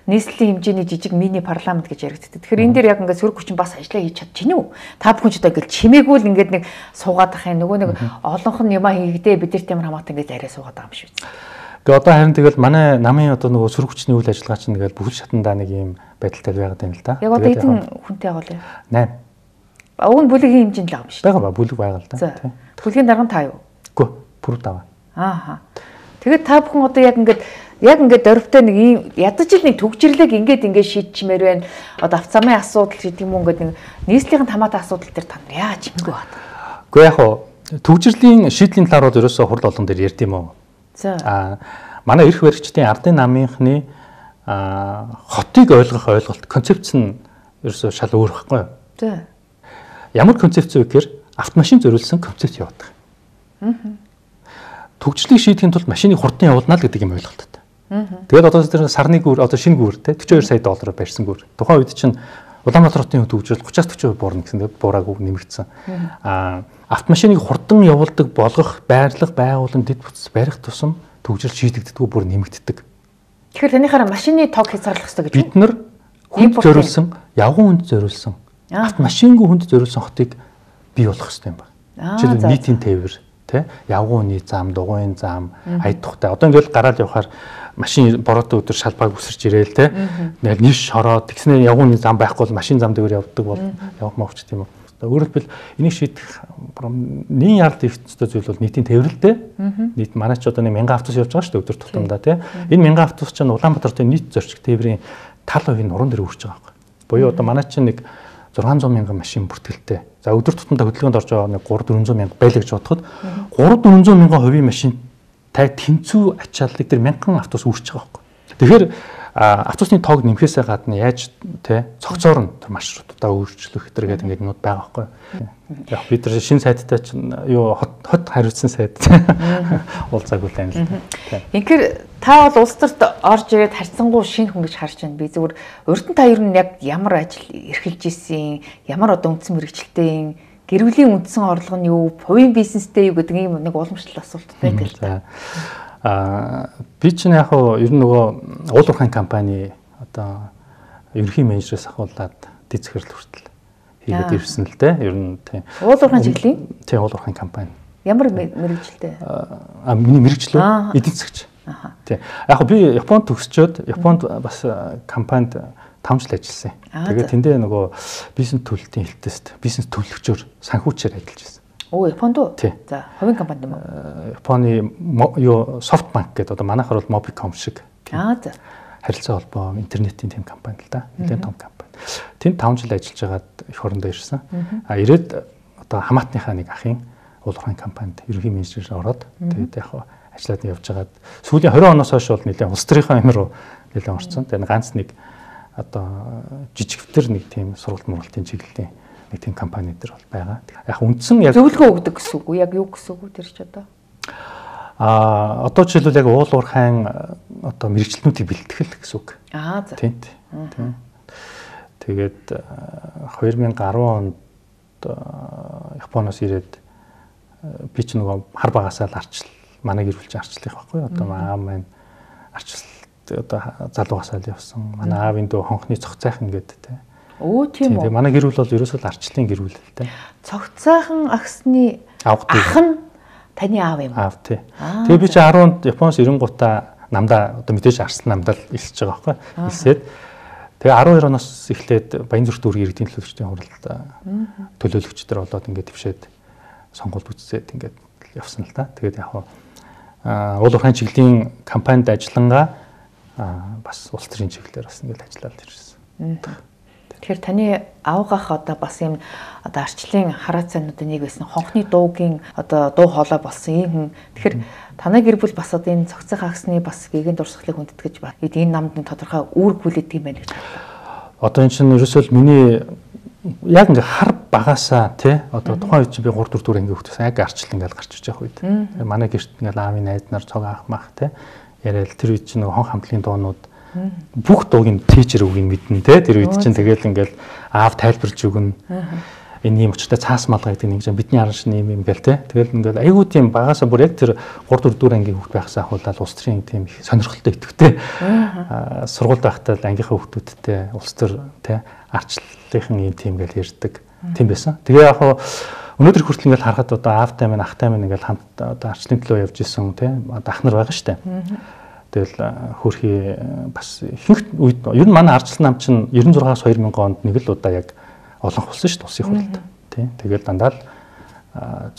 нийслэлийн хэмжээний жижиг мини парламент гэж яригддаг. Тэгэхээр энэ дээр яг ингээд сөрөг хүчин бас ажиллаа хийж чадчихна уу? Та бүхэн ч одоо ингээд чимээгүй л ингээд нэг суугаад ах юм. Нөгөө нэг олонх нь юмаа хийгдээ бид нар тийм хамаатай ингээд арай суугаад байгаа юм шиг үү? Тэгээ одоо харин тэгэл манай намын одоо нөгөө сөрөг хүчний үйл ажиллагаа чинь тэгэл бүхэл шатандаа нэг юм байдалтай байгаад байна л да. Яг одоо хэдэн хүнтэй байгаа вэ? 8. Уг нь бүлэгийн хэмжээнд л байгаа юм шиг. Бага бүлэг байгаа л да. Бүлгийн дарга нь та юу? Үгүй, бүр даваа. Ааха. Тэгээд та бүхэн одоо яг ингээд дөрвтэй нэг ийм ядаж л нэг төгжрлэг ингээд шийдчмээр байна. Одоо авцамын асуудал гэдэг юм уу ингээд нэг нийслэлийн хамаатай асуудал дээр та нар яаж чимээгүй байна? Үгүй яг хоо төгжрлийн шийдлийн талаар бол ерөөсөө хурал олон дээр ярьд юм уу? За. Манай эрх баригчдын ардын намынхны хотыг ойлгох ойлголт концепц нь ерөөсөө шал өөр байхгүй юу? За. Ямар концепц вэ гэхээр автомашин зориулсан концепц явуудаг. Төгжрлийг шийдэхин тулд машиныг хурдан явуулна л гэдэг юм ойлголттой. Тэгээд одоо тэр сарны гүр одоо шинэ гүр те 42 сая доллараар барьсан гүр. Тухайн үед чинь Улаанбаатар хотын төгжрөл 30-40% буурна гэсэн тэгээд буураагүй нэмэгдсэн. Автомашиныг хурдан явуулдаг болгох, байрлах, байгуулан дэд бүтц барих тусам төгжрөл шийдэгддэггүй бүр нэмэгддэг. Тэгэхээр танийхаараа машины тоог хязгаарлах хэрэгтэй гэж бид нар хүнд зориулсан, явган хүнд зориулсан автомашингүй хүнд зориулсан хотыг бий болгох хэрэгтэй юм байна. Жишээлбэл нийтийн тээвэр тий явгууны зам, дугуйн зам, аяд тухтай. Одоо ингээл гараад явахаар машин бороотой өдөр шалбааг үсэрч ирээл тий. Ингээл ниш шороод тэгснээр явгууны зам байхгүй бол машин зам дээр явдаг бол явах мовч тийм үү. Өөрөөр хэлбэл энийг шийдэх нийгмийн яралт дэвтцтэй зүйл бол нийтийн тээвэрлэлтэй. Нийт манай ч одоо 1000 автобус явж байгаа шүү дээ өдөр тутамдаа тий. Энэ 1000 автобус чинь Улаанбаатарын нийт зорчиг тээврийн 70% нь уран дээр үрж байгаа байхгүй. Буюу одоо манай чинь нэг 600 мянган машин бүртгэлтэй. За өдөр тутамдаа хөдөлгөөнд орж байгаа нэг 300-400 мянга байлаа гэж бодоход 300-400 мянган хувийн машин таг тэнцүү ачааллыг тэр 1000 автобус үрж байгаа байхгүй. Тэгэхээр автобусны тоог нэмэхээсээ гадна яаж те цогцоор нь тэр маршрутуудаа өөрчлөх гэдэг ингээд юмуд байгаа байхгүй. Яг бид нар шинэ сайттай чинь юу хот хариуцсан сайт уулзаагүй л юм л та. Инхээр та бол улс төрт орж ирээд харьцангуй шинэ хүн гэж харж байна. Би зүгээр урд нь та ер нь яг ямар ажил эрхэлж ийсэн, ямар одоо үндсэн мэрэгчлэлтэй гэр бүлийн үндсэн орлого нь юу, хувийн бизнестэй юу гэдэг ийм нэг уламжлал асуулттай гэл. Би чинь яг ер нь нөгөө уулуурхайн компани одоо ерөнхий менежерээс ахуулаад дэд захирал хүртэл хийгээд ирсэн л дээ. Ер нь тийм. Уулуурхайн чиглэлийн? Тийм, уулуурхайн компани. Ямар мэрэгчлээ? Миний мэрэгчлөө эдийн засагч. Тийм. Яг би Японд төгсчөөд Японд бас компанид 5 жил ажилласан. Тэгээд тэндээ нөгөө бизнес төлөлтийн хэлтэст бизнес төлөвлөгчөөр санхүүчээр ажиллаж байсан. Японд уу? За, хувийн компани юм уу? Японы юу Softbank гэдэг одоо манайхаар бол Mobicom шиг. За. Харилцаа холбоо интернетийн тэм компани л да. Нэлээд том компани. Тэнд 5 жил ажиллаж байгаад их орондоо ирсэн. Ирээд одоо хамаатныхаа нэг ахын уулуурхайн компанид ерөнхий менежерээр ороод тэгээд яг ажиллаад явж байгаад сүүлийн 20 оноос хойш бол нэлээд улс төрийн амир руу нэлээд орсон. Тэгээд ганц нэг одоо жижигвтер нэг тийм сургалт мургалтын чиглэлийн нэг тийм компани дээр бол байгаа. Яг үндсэн яг зөвлөгөө өгдөг гэсэн үг үү? Яг юу гэсэн үг үү тэр ч одоо? Одоо жишээлбэл яг уулуурхайн одоо мэрэгчлэнүүдийг бэлтгэл гэсэн үг. За. Тийм. Тэгээд 2010 онд Японоос ирээд би ч нөгөө хар багасаа л манай гэр бүлч арчлах байхгүй. Одоо аав маань арчлалт одоо залуугасаа л явсан. Манай аавын дөө хонхны цогцайхан гэдэг тийм. Тийм үү. Манай гэр бүл бол ерөөсөө арчлалын гэр бүл л дээ. Цогцайхан ахсны ах нь таны аав юм. Аав тий. Тэгээ би чи 10 онд Японоос ирэнгуутаа намдаа одоо мэдээж арслан намдаа илсэж байгаа байхгүй. Илсээд тэгээ 12 оноос эхлээд Баянзүрт дүүргийн иргэдийн төлөөлөгчдийн хуралд төлөөлөгчдөр болоод ингээд твшээд сонгуульд үтсээд ингээд явсан л та. Тэгээд яг уулуурхайн чиглэлийн компанид ажиллангаа бас улс төрийн чиглэлээр бас ингээд ажиллаад ирсэн. Тэгэхээр таны аавгах одоо бас юм одоо арчлалын хараацаануудын нэг байсан хонхны дуугийн одоо дуу хоолой болсон ийм хүн. Тэгэхээр танай гэр бүл бас одоо энэ цогцох агсны бас гэгэн дурсгалыг хүндэтгэж байна. Энэ намд нэг тодорхой үүрэг хүлээдэг юм байна гэж бодлоо. Одоо энэ чинь ерөөсөө миний яг ингээ хар багасаа тий одоо тухайн үед чи би 3 4 4 ингээ хөвтөсөн яг арчлал ингээл гарч иж явах үед. Манай гэрт ингээл аавын найз нар цог аах мах тий яриад тэр үед чи нэг хон хамтлагийн дуунууд бүх дуугийн тийчэр үгийг мэднэ те тэр үед чинь тэгэл ингээл аав тайлбарж өгнө энэ юм очтой цаас малгай гэдэг нэг юм бидний араншны юм гээл те тэгэл ингээл айгуу тийм багасаа бүр яг тэр 3 4 4 ангийн хүүхд байхсаа хуулаад улс төрийн тийм их сонирхолтой идэвхтэй сургуульд байхдаа ангийнхаа хүүхдүүдтэй улс төр те арчлалынхан юм тийм гээл ярьдаг тийм байсан. Тэгээ яг өнөөдөр хүртэл ингээл харахад одоо аавтай минь ахтай минь ингээл хамт одоо арчлалын төлөө явж исэн те одоо ах нар байгаа штэ. Тэгэл хөөрхий бас ихэнх үед ер нь манай арчлал нам чинь 96-аас 2000 онд нэг л удаа яг олон болсон шүү дээ улсын хурлд тий. Тэгээд дандаа л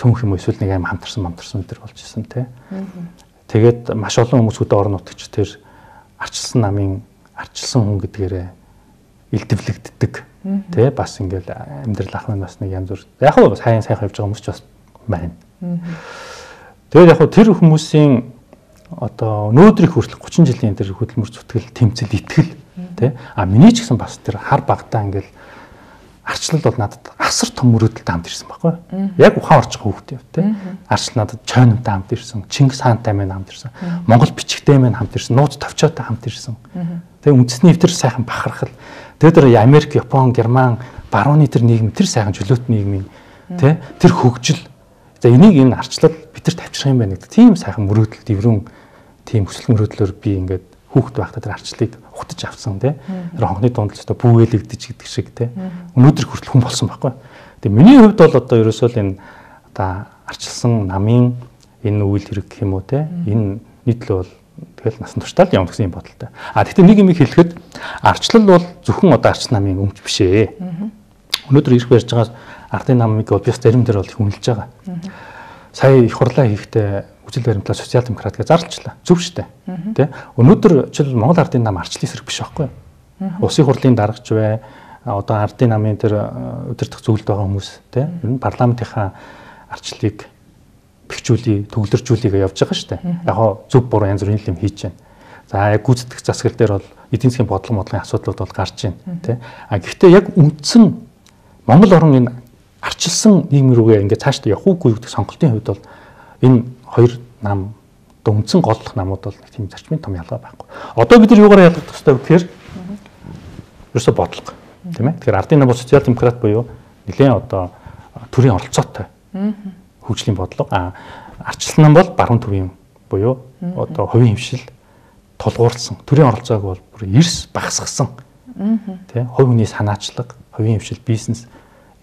цөөнх юм эсвэл нэг аим хамтарсан өдр болж исэн тий. Тэгээд маш олон хүмүүсүүд орон нутагч тэр арчилсан намын арчилсан хүн гэдгээрээ илдэвлэгддэг тий. Бас ингээл амьдрал ах маань бас нэг янз бүр яг хөө сайн явж байгаа хүмүүс ч бас байна. Тэгээд яг хөө тэр хүмүүсийн одоо өнөөдрийг хүртэл 30 жилийн тэр хөдөлмөр зүтгэл тэмцэл итгэл тий миний ч гэсэн бас тэр хар багтаа ингээл арчлал бол надад асар том мөрөөдөлтэй хамт ирсэн байхгүй яг ухаан орж байгаа хүүхдээ тий арчлал надад чойномтой хамт ирсэн Чингис хаантай мэн хамт ирсэн Монгол бичгтэй мэн хамт ирсэн нууц товчоотой хамт ирсэн тэгээ үндэсний эвтэр сайхан бахархал тэгээ тэр Америк Япон Герман барууны тэр нийгэм тэр сайхан чөлөөт нийгмийн тий тэр хөгжил за энийг энэ арчлал бидэрт авчрах юм байна гэдэг тийм сайхан мөрөөдөл дэврэн тийм хүсэл мөрөөдлөөр би ингээд хүүхэд байхдаа тэр арчлалыг ухтаж авсан тий. Тэр хонхны дунд л өстой бүүгэлэгдэж гэдэг шиг тий. Өнөөдөр хүртэл хүн болсон байхгүй. Тэгээ миний хувьд бол одоо ерөөсөө л энэ одоо арчилсан намын энэ үйл хэрэг гэх юм уу те энэ нийтлэл бол тэгэл насан туршдаа л явна гэсэн юм бодолтой. Гэхдээ нэг юм хэлэхэд арчлал бол зөвхөн одоо арч намын өмч биш ээ. Өнөөдөр ирэх барьж байгаа ардын намыг бол би зарим дээр бол их үнэлж байгаа. Сая их хурлаа хийхдээ үжил баримтлаа социал демократ гэж зарлчлаа. Зөв шүү дээ. Тэ? Өнөөдөр жишээл Монгол ардын нам арчлын эсрэг биш байхгүй юу? Улсын хурлын даргач бай, одоо ардын намын тэр удирдах зөвлөлд байгаа хүмүүс тэ? Ер нь парламентынхаа арчлалыг бэхжүүлээ, төвлөржүүлээ явж байгаа шүү дээ. Яг хоо зөв буруу янз бүрийн юм хийж байна. За яг гүйцэтгэх засаглал дээр бол эдийн засгийн бодлогын асуудлууд бол гарч байна тий. Гэхдээ яг үндсэн Монгол орн энэ арчилсан нийгэм рүүгээ ингээд цаашдаа явах уугүй гэдэг сонголтын хувьд бол энэ хоёр нам одоо үндсэн голлох намууд бол нэг тийм зарчмын том ялгаа байхгүй. Одоо бид нар юугаар ялгах ёстой вэ гэхээр ерөөсө бодлого тийм ээ. Тэгэхээр ардын нам бол социал демократ буюу нэлээд одоо төрийн оролцоотой хөгжлийн бодлого. Арчилсан нам бол баруун төвийн буюу одоо хувийн хэмшил тулгуурласан төрийн оролцоог бол бүр эрс багасгасан. Тэ хувь хүний санаачлаг, хувийн хэмшил, бизнес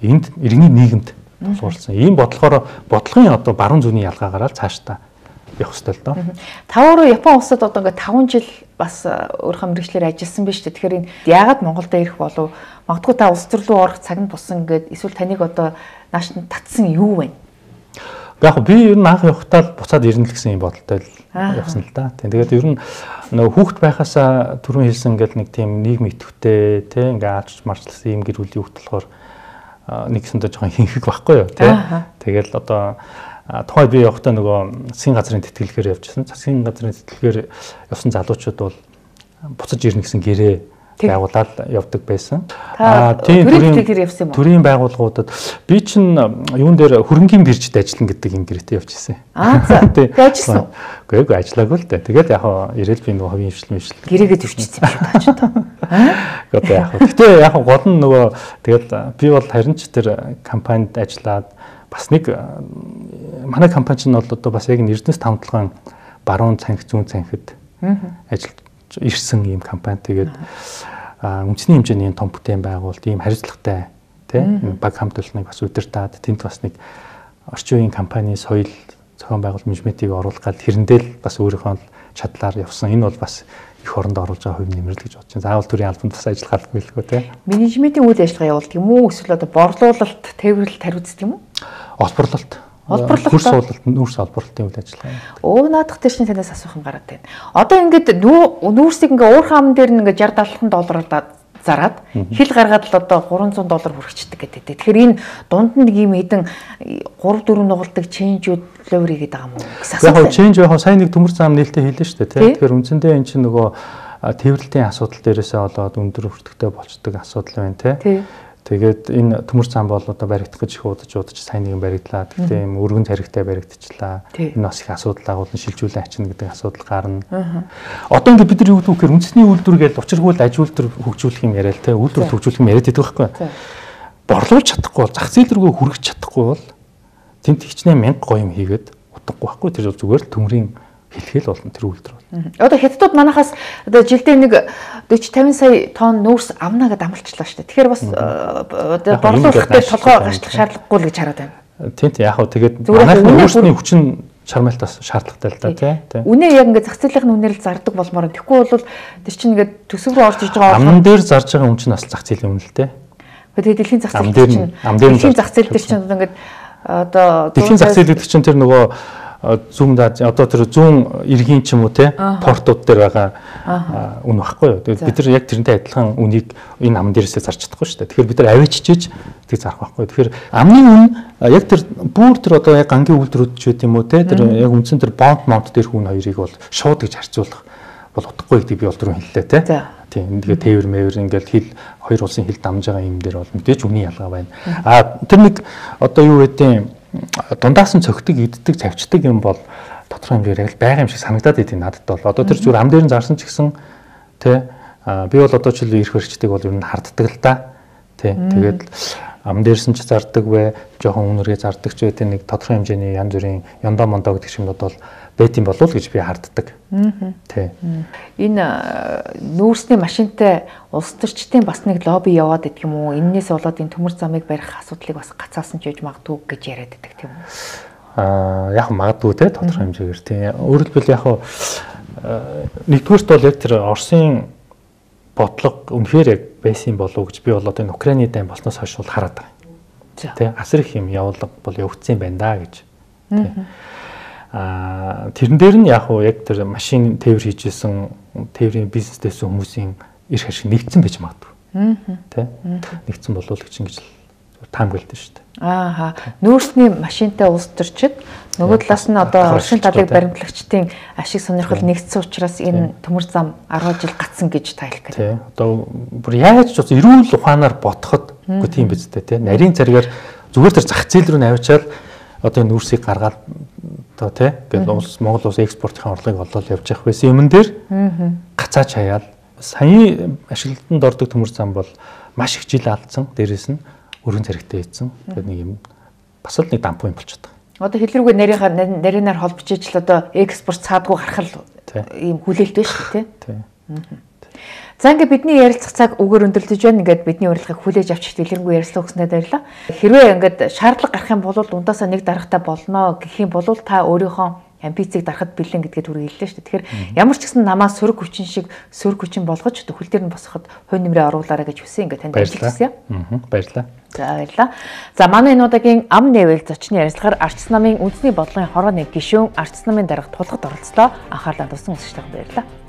энд иргэний нийгэмд тулгуурласан. Ийм бодлогын одоо баруун зүүнний ялгаагаар л цаашдаа явах ёстой л доо. Тавруу Япон улсад одоо ингээд 5 жил бас өөрийнхөө мэргэжлэр ажилласан биз дээ. Тэгэхээр энэ яагаад Монголд ирэх болов? Магадгүй та улс төр рүү орох цаг нь тусан ингээд эсвэл таныг одоо нааш нь татсан юу вэ? Яг би ер нь анх явахдаа л буцаад ирнэ л гэсэн юм бодолтой л явсан л да. Тэгээд ер нь нөгөө хүүхэд байхасаа түрүүн хэлсэн ингээл нэг тийм нийгэм идэвхтэй тий ингээ аарч марчлсан юм гэр бүлийн хүүхэд болохоор нэгсэндээ жоохон хинхэг байхгүй юу тий. Тэгэл одоо тухай би явахдаа нөгөө засгийн газрын тэтгэлгээр явжсэн. Засгийн газрын тэтгэлгээр явсан залуучууд бол буцаж ирнэ гэсэн гэрээ байгуулаад явдаг байсан. Тийм төрийн байгууллагуудад би чинь юун дээр хөрөнгийн биржид ажиллана гэдэг юм гэрээтэй явж ирсэн. Тэгээд ажилласан. Үгүй ажиллаагүй л дээ. Тэгээд яг ирээл би нөгөө хувийн хвшил гэрээгээ төвчсөн юм шиг тааж та. Тэгээд яг гэхдээ яг гол нь нөгөө тэгээд би бол харин ч тэр компанид ажиллаад бас нэг манай компани чинь бол одоо бас яг Эрдэнэс тавталгаан баруун цанхи зүүн цанхид ажиллаж ирсэн ийм компани. Тэгээд үндэсний хэмжээний том бүтээн байгуулалт ийм хариуцлагатай тийм баг хамт олныг бас удирдаад тэнд бас нэг орчин үеийн компани соёл зохион байгуулалт менежментийг оруулах гал тэрэндээ л бас өөрийнхөө чадлаар явсан. Энэ бол бас их оронд оруулж байгаа хувь нэмрэл гэж бодож байна. Заавал төрийн албанд бас ажиллах албагүй л гоо тийм. Менежментийн үйл ажиллагаа явуулдаг юм уу? Эсвэл одоо борлуулалт, тээвэрлэлт хариуцдаг юм уу? Олборлолт. Хөрс суулалт, нүүрс олборлолтын үйл ажиллагаа. Наадах дээр чинь танаас асуух юм гараад байна. Одоо ингээд нүүрсийг ингээ уурхай ам дээр нь ингээ 60-70 доллараар зараад хил гаргаад л одоо $300 хүрчихдэг гэдэг. Тэгэхээр энэ дунд нь нэг юм хэдэн 3-4 нугалдаг ченжүүд ловер хийгээд байгаа юм уу гэсэн асуулт. Яг ченж яг сайн нэг төмөр зам нээлттэй хэлсэн шүү дээ тийм. Тэгэхээр үндсэндээ эн чинь нөгөө тээвэрлэлийн асуудал дээрээсээ болоод өндөр өртөгтэй болцдог асуудал байна тийм. Тэгээд энэ төмөр зам бол одоо баригдах гэж их удаж сайн нэгэн баригдлаа. Гэхдээ юм өргөн царигтай баригдчихлаа. Энэ бас их асуудал агуулсан шилжүүлэн ачна гэдэг асуудал гарна. Одоо ингээд бид нар юу гэдэг вэ гэхээр үндэсний үйлдвэр гээд учиргүй аж үйлдвэр хөгжүүлэх юм яриа л те. Үйлдвэр хөгжүүлэх юм яриад байдаг байхгүй. Борлуулж чадахгүй бол зах зээл рүү хүргэж чадахгүй бол тэнт хичнээн 1000 гоё юм хийгээд утгагүй байхгүй. Тэр зүгээр л төмрийн хэлхэл болно тэр үйлдвэр бол. Одоо хятадууд манахаас одоо жилдээ нэг 40-50 сая тонн нүүрс авна гэдээ амлалчлаа шүү дээ. Тэгэхээр бас одоо борлуулах дээр толгой гашлах шаардлагагүй л гэж хараад байна. Тийм яг хөө тэгээд манайх нүүрсний хүчин чармайлтаас шаардлагатай л да тий. Үнэ яг ингээд зах зээлийн үнээр л зардаг болмоор. Тэгэхгүй бол тэр чинь ингээд төсөв рүү орж иж байгаа амн дээр зарж байгаа үн чинь бас зах зээлийн үнэ л тий. Тэгээд дэлхийн зах зээл чинь дэлхийн зах зээл дээр чинь ингээд одоо дэлхийн зах зээл гэдэг чинь тэр нөгөө зүүн одоо тэр зүүн иргэн ч юм уу те портууд дээр байгаа үн багхгүй юу. Тэгээд бид нар яг тэрнтэй адилхан үнийг энэ ам дээрээсээ зарч чадахгүй шүү дээ. Тэгэхээр бид нар авичижээж тийг зарах байхгүй юу. Тэгэхээр амны үн яг тэр бүр тэр одоо яг гангийн үйлдвэрүүд ч үт юм уу те тэр яг үндсэн тэр бонд дээрх үн хоёрыг бол шууд гэж харьцуулах бол утгагүй гэдэг би бол түрүү хэллээ те. Тийм ингээд тээвэр мэвэр ингээд хил хоёр улсын хил дамж байгаа юм дээр бол мэдээж үний ялгаа байна. Тэр нэг одоо юу гэдэг дундаас нь цогтөг иддэг цавчдаг юм бол тодорхой хэмжээгээр яг байгаа юм шиг санагдаад идэв надад бол. Одоо тэр зүгээр ам дээр нь зарсан ч гэсэн тий би бол одоо ч ирэх хэрэгчдэг бол ер нь харддаг л да. Тий тэгээд ам дээрсэн ч зардаг вэ, жоохон үнэргээ зардаг ч вэ нэг тодорхой хэмжээний янз бүрийн ёндоо мондоо гэдэг юмнууд бол байт юм болов уу гэж би харддаг. Тий. Энэ нүүрсний машинтай улс төрчдийн бас нэг лобби яваад идэх юм уу? Эннээс болоод энэ төмөр замыг барих асуудлыг бас гацаасан ч яж магадгүй гэж яриад байдаг тийм үү? Яг магадгүй те тодорхой хэмжээгээр тийм. Өөрөөр хэлбэл яг нэгдүгээрт бол яг тэр Оросын бодлого үнэхээр яг байсан болов уу гэж би бол одоо энэ Украины дайн болсноос хойш бол хараад байгаа. Тэ асар их юм явуулга бол явагдсан байна да гэж. Тэрэн дээр нь яг тэр машин тээвэр хийжсэн тээврийн бизнестэйсэн хүмүүсийн эрх ашиг нэгдсэн байж магадгүй. Тэ нэгдсэн болов уу гэж ингэж таамаглалтай шүү дээ. Нүүрсний машинтай улс төрчид нөгөө талаас нь одоо Оросын талыг баримтлагчдын ашиг сонирхол нэгдсэн учраас энэ төмөр зам 10 жил гацсан гэж тайлх гэдэг. Тий. Одоо бүр яаж ч бас эрүүл ухаанаар бодоход үгүй тийм биз дээ тий. Нарийн царгаар зүгээр тэр зах зээл рүү навчаад одоо нүүрсийг гаргаад одоо тий гэдэг Монгол улс экспортын орлогыг олоод явж явах байсан юмн дээр гацаач хаяал саяны ашиглалтанд ордог төмөр зам бол маш их жил алдсан. Дээрээс нь өргөн царигтай ийдсэн. Тэгээд нэг юм бас л нэг дампуу юм болчиход байгаа. Одоо хэлрүүгээ нарийнаар холбож ижил одоо экспорт цаадгүй гарах ийм хүлээлт байна шүү дээ тий. За ингээд бидний ярилцах цаг үгээр өндөрлөж байна. Ингээд бидний урилгыг хүлээж авч дэлгэрэнгүй ярилцлага өгснөд баярлалаа. Хэрвээ ингээд шаардлага гарах юм бол ундаасаа нэг дарагтай болно гэх юм бол та өөрийнхөө амбицийг дарахад бэлэн гэдгээд түрүү хэллээ шүү дээ. Тэгэхээр ямар ч гэсэн намаа сөрөг хүчин шиг сөрөг хүчин болгож төхөл дээр нь босоход хувь нэмрээ оруулаарай гэж хүсэн. Ингээд танд хэлсэн юм. Баярлалаа. За баярлалаа. За манай энэ удаагийн ам нээвэл зочны ярилцлагаар Арчс намын үндэсний бодлогын хорооны гишүүн Арчс намын дарга тулгад оролцлоо. Анхаарлаа туссан үзэгчдээ баярлалаа.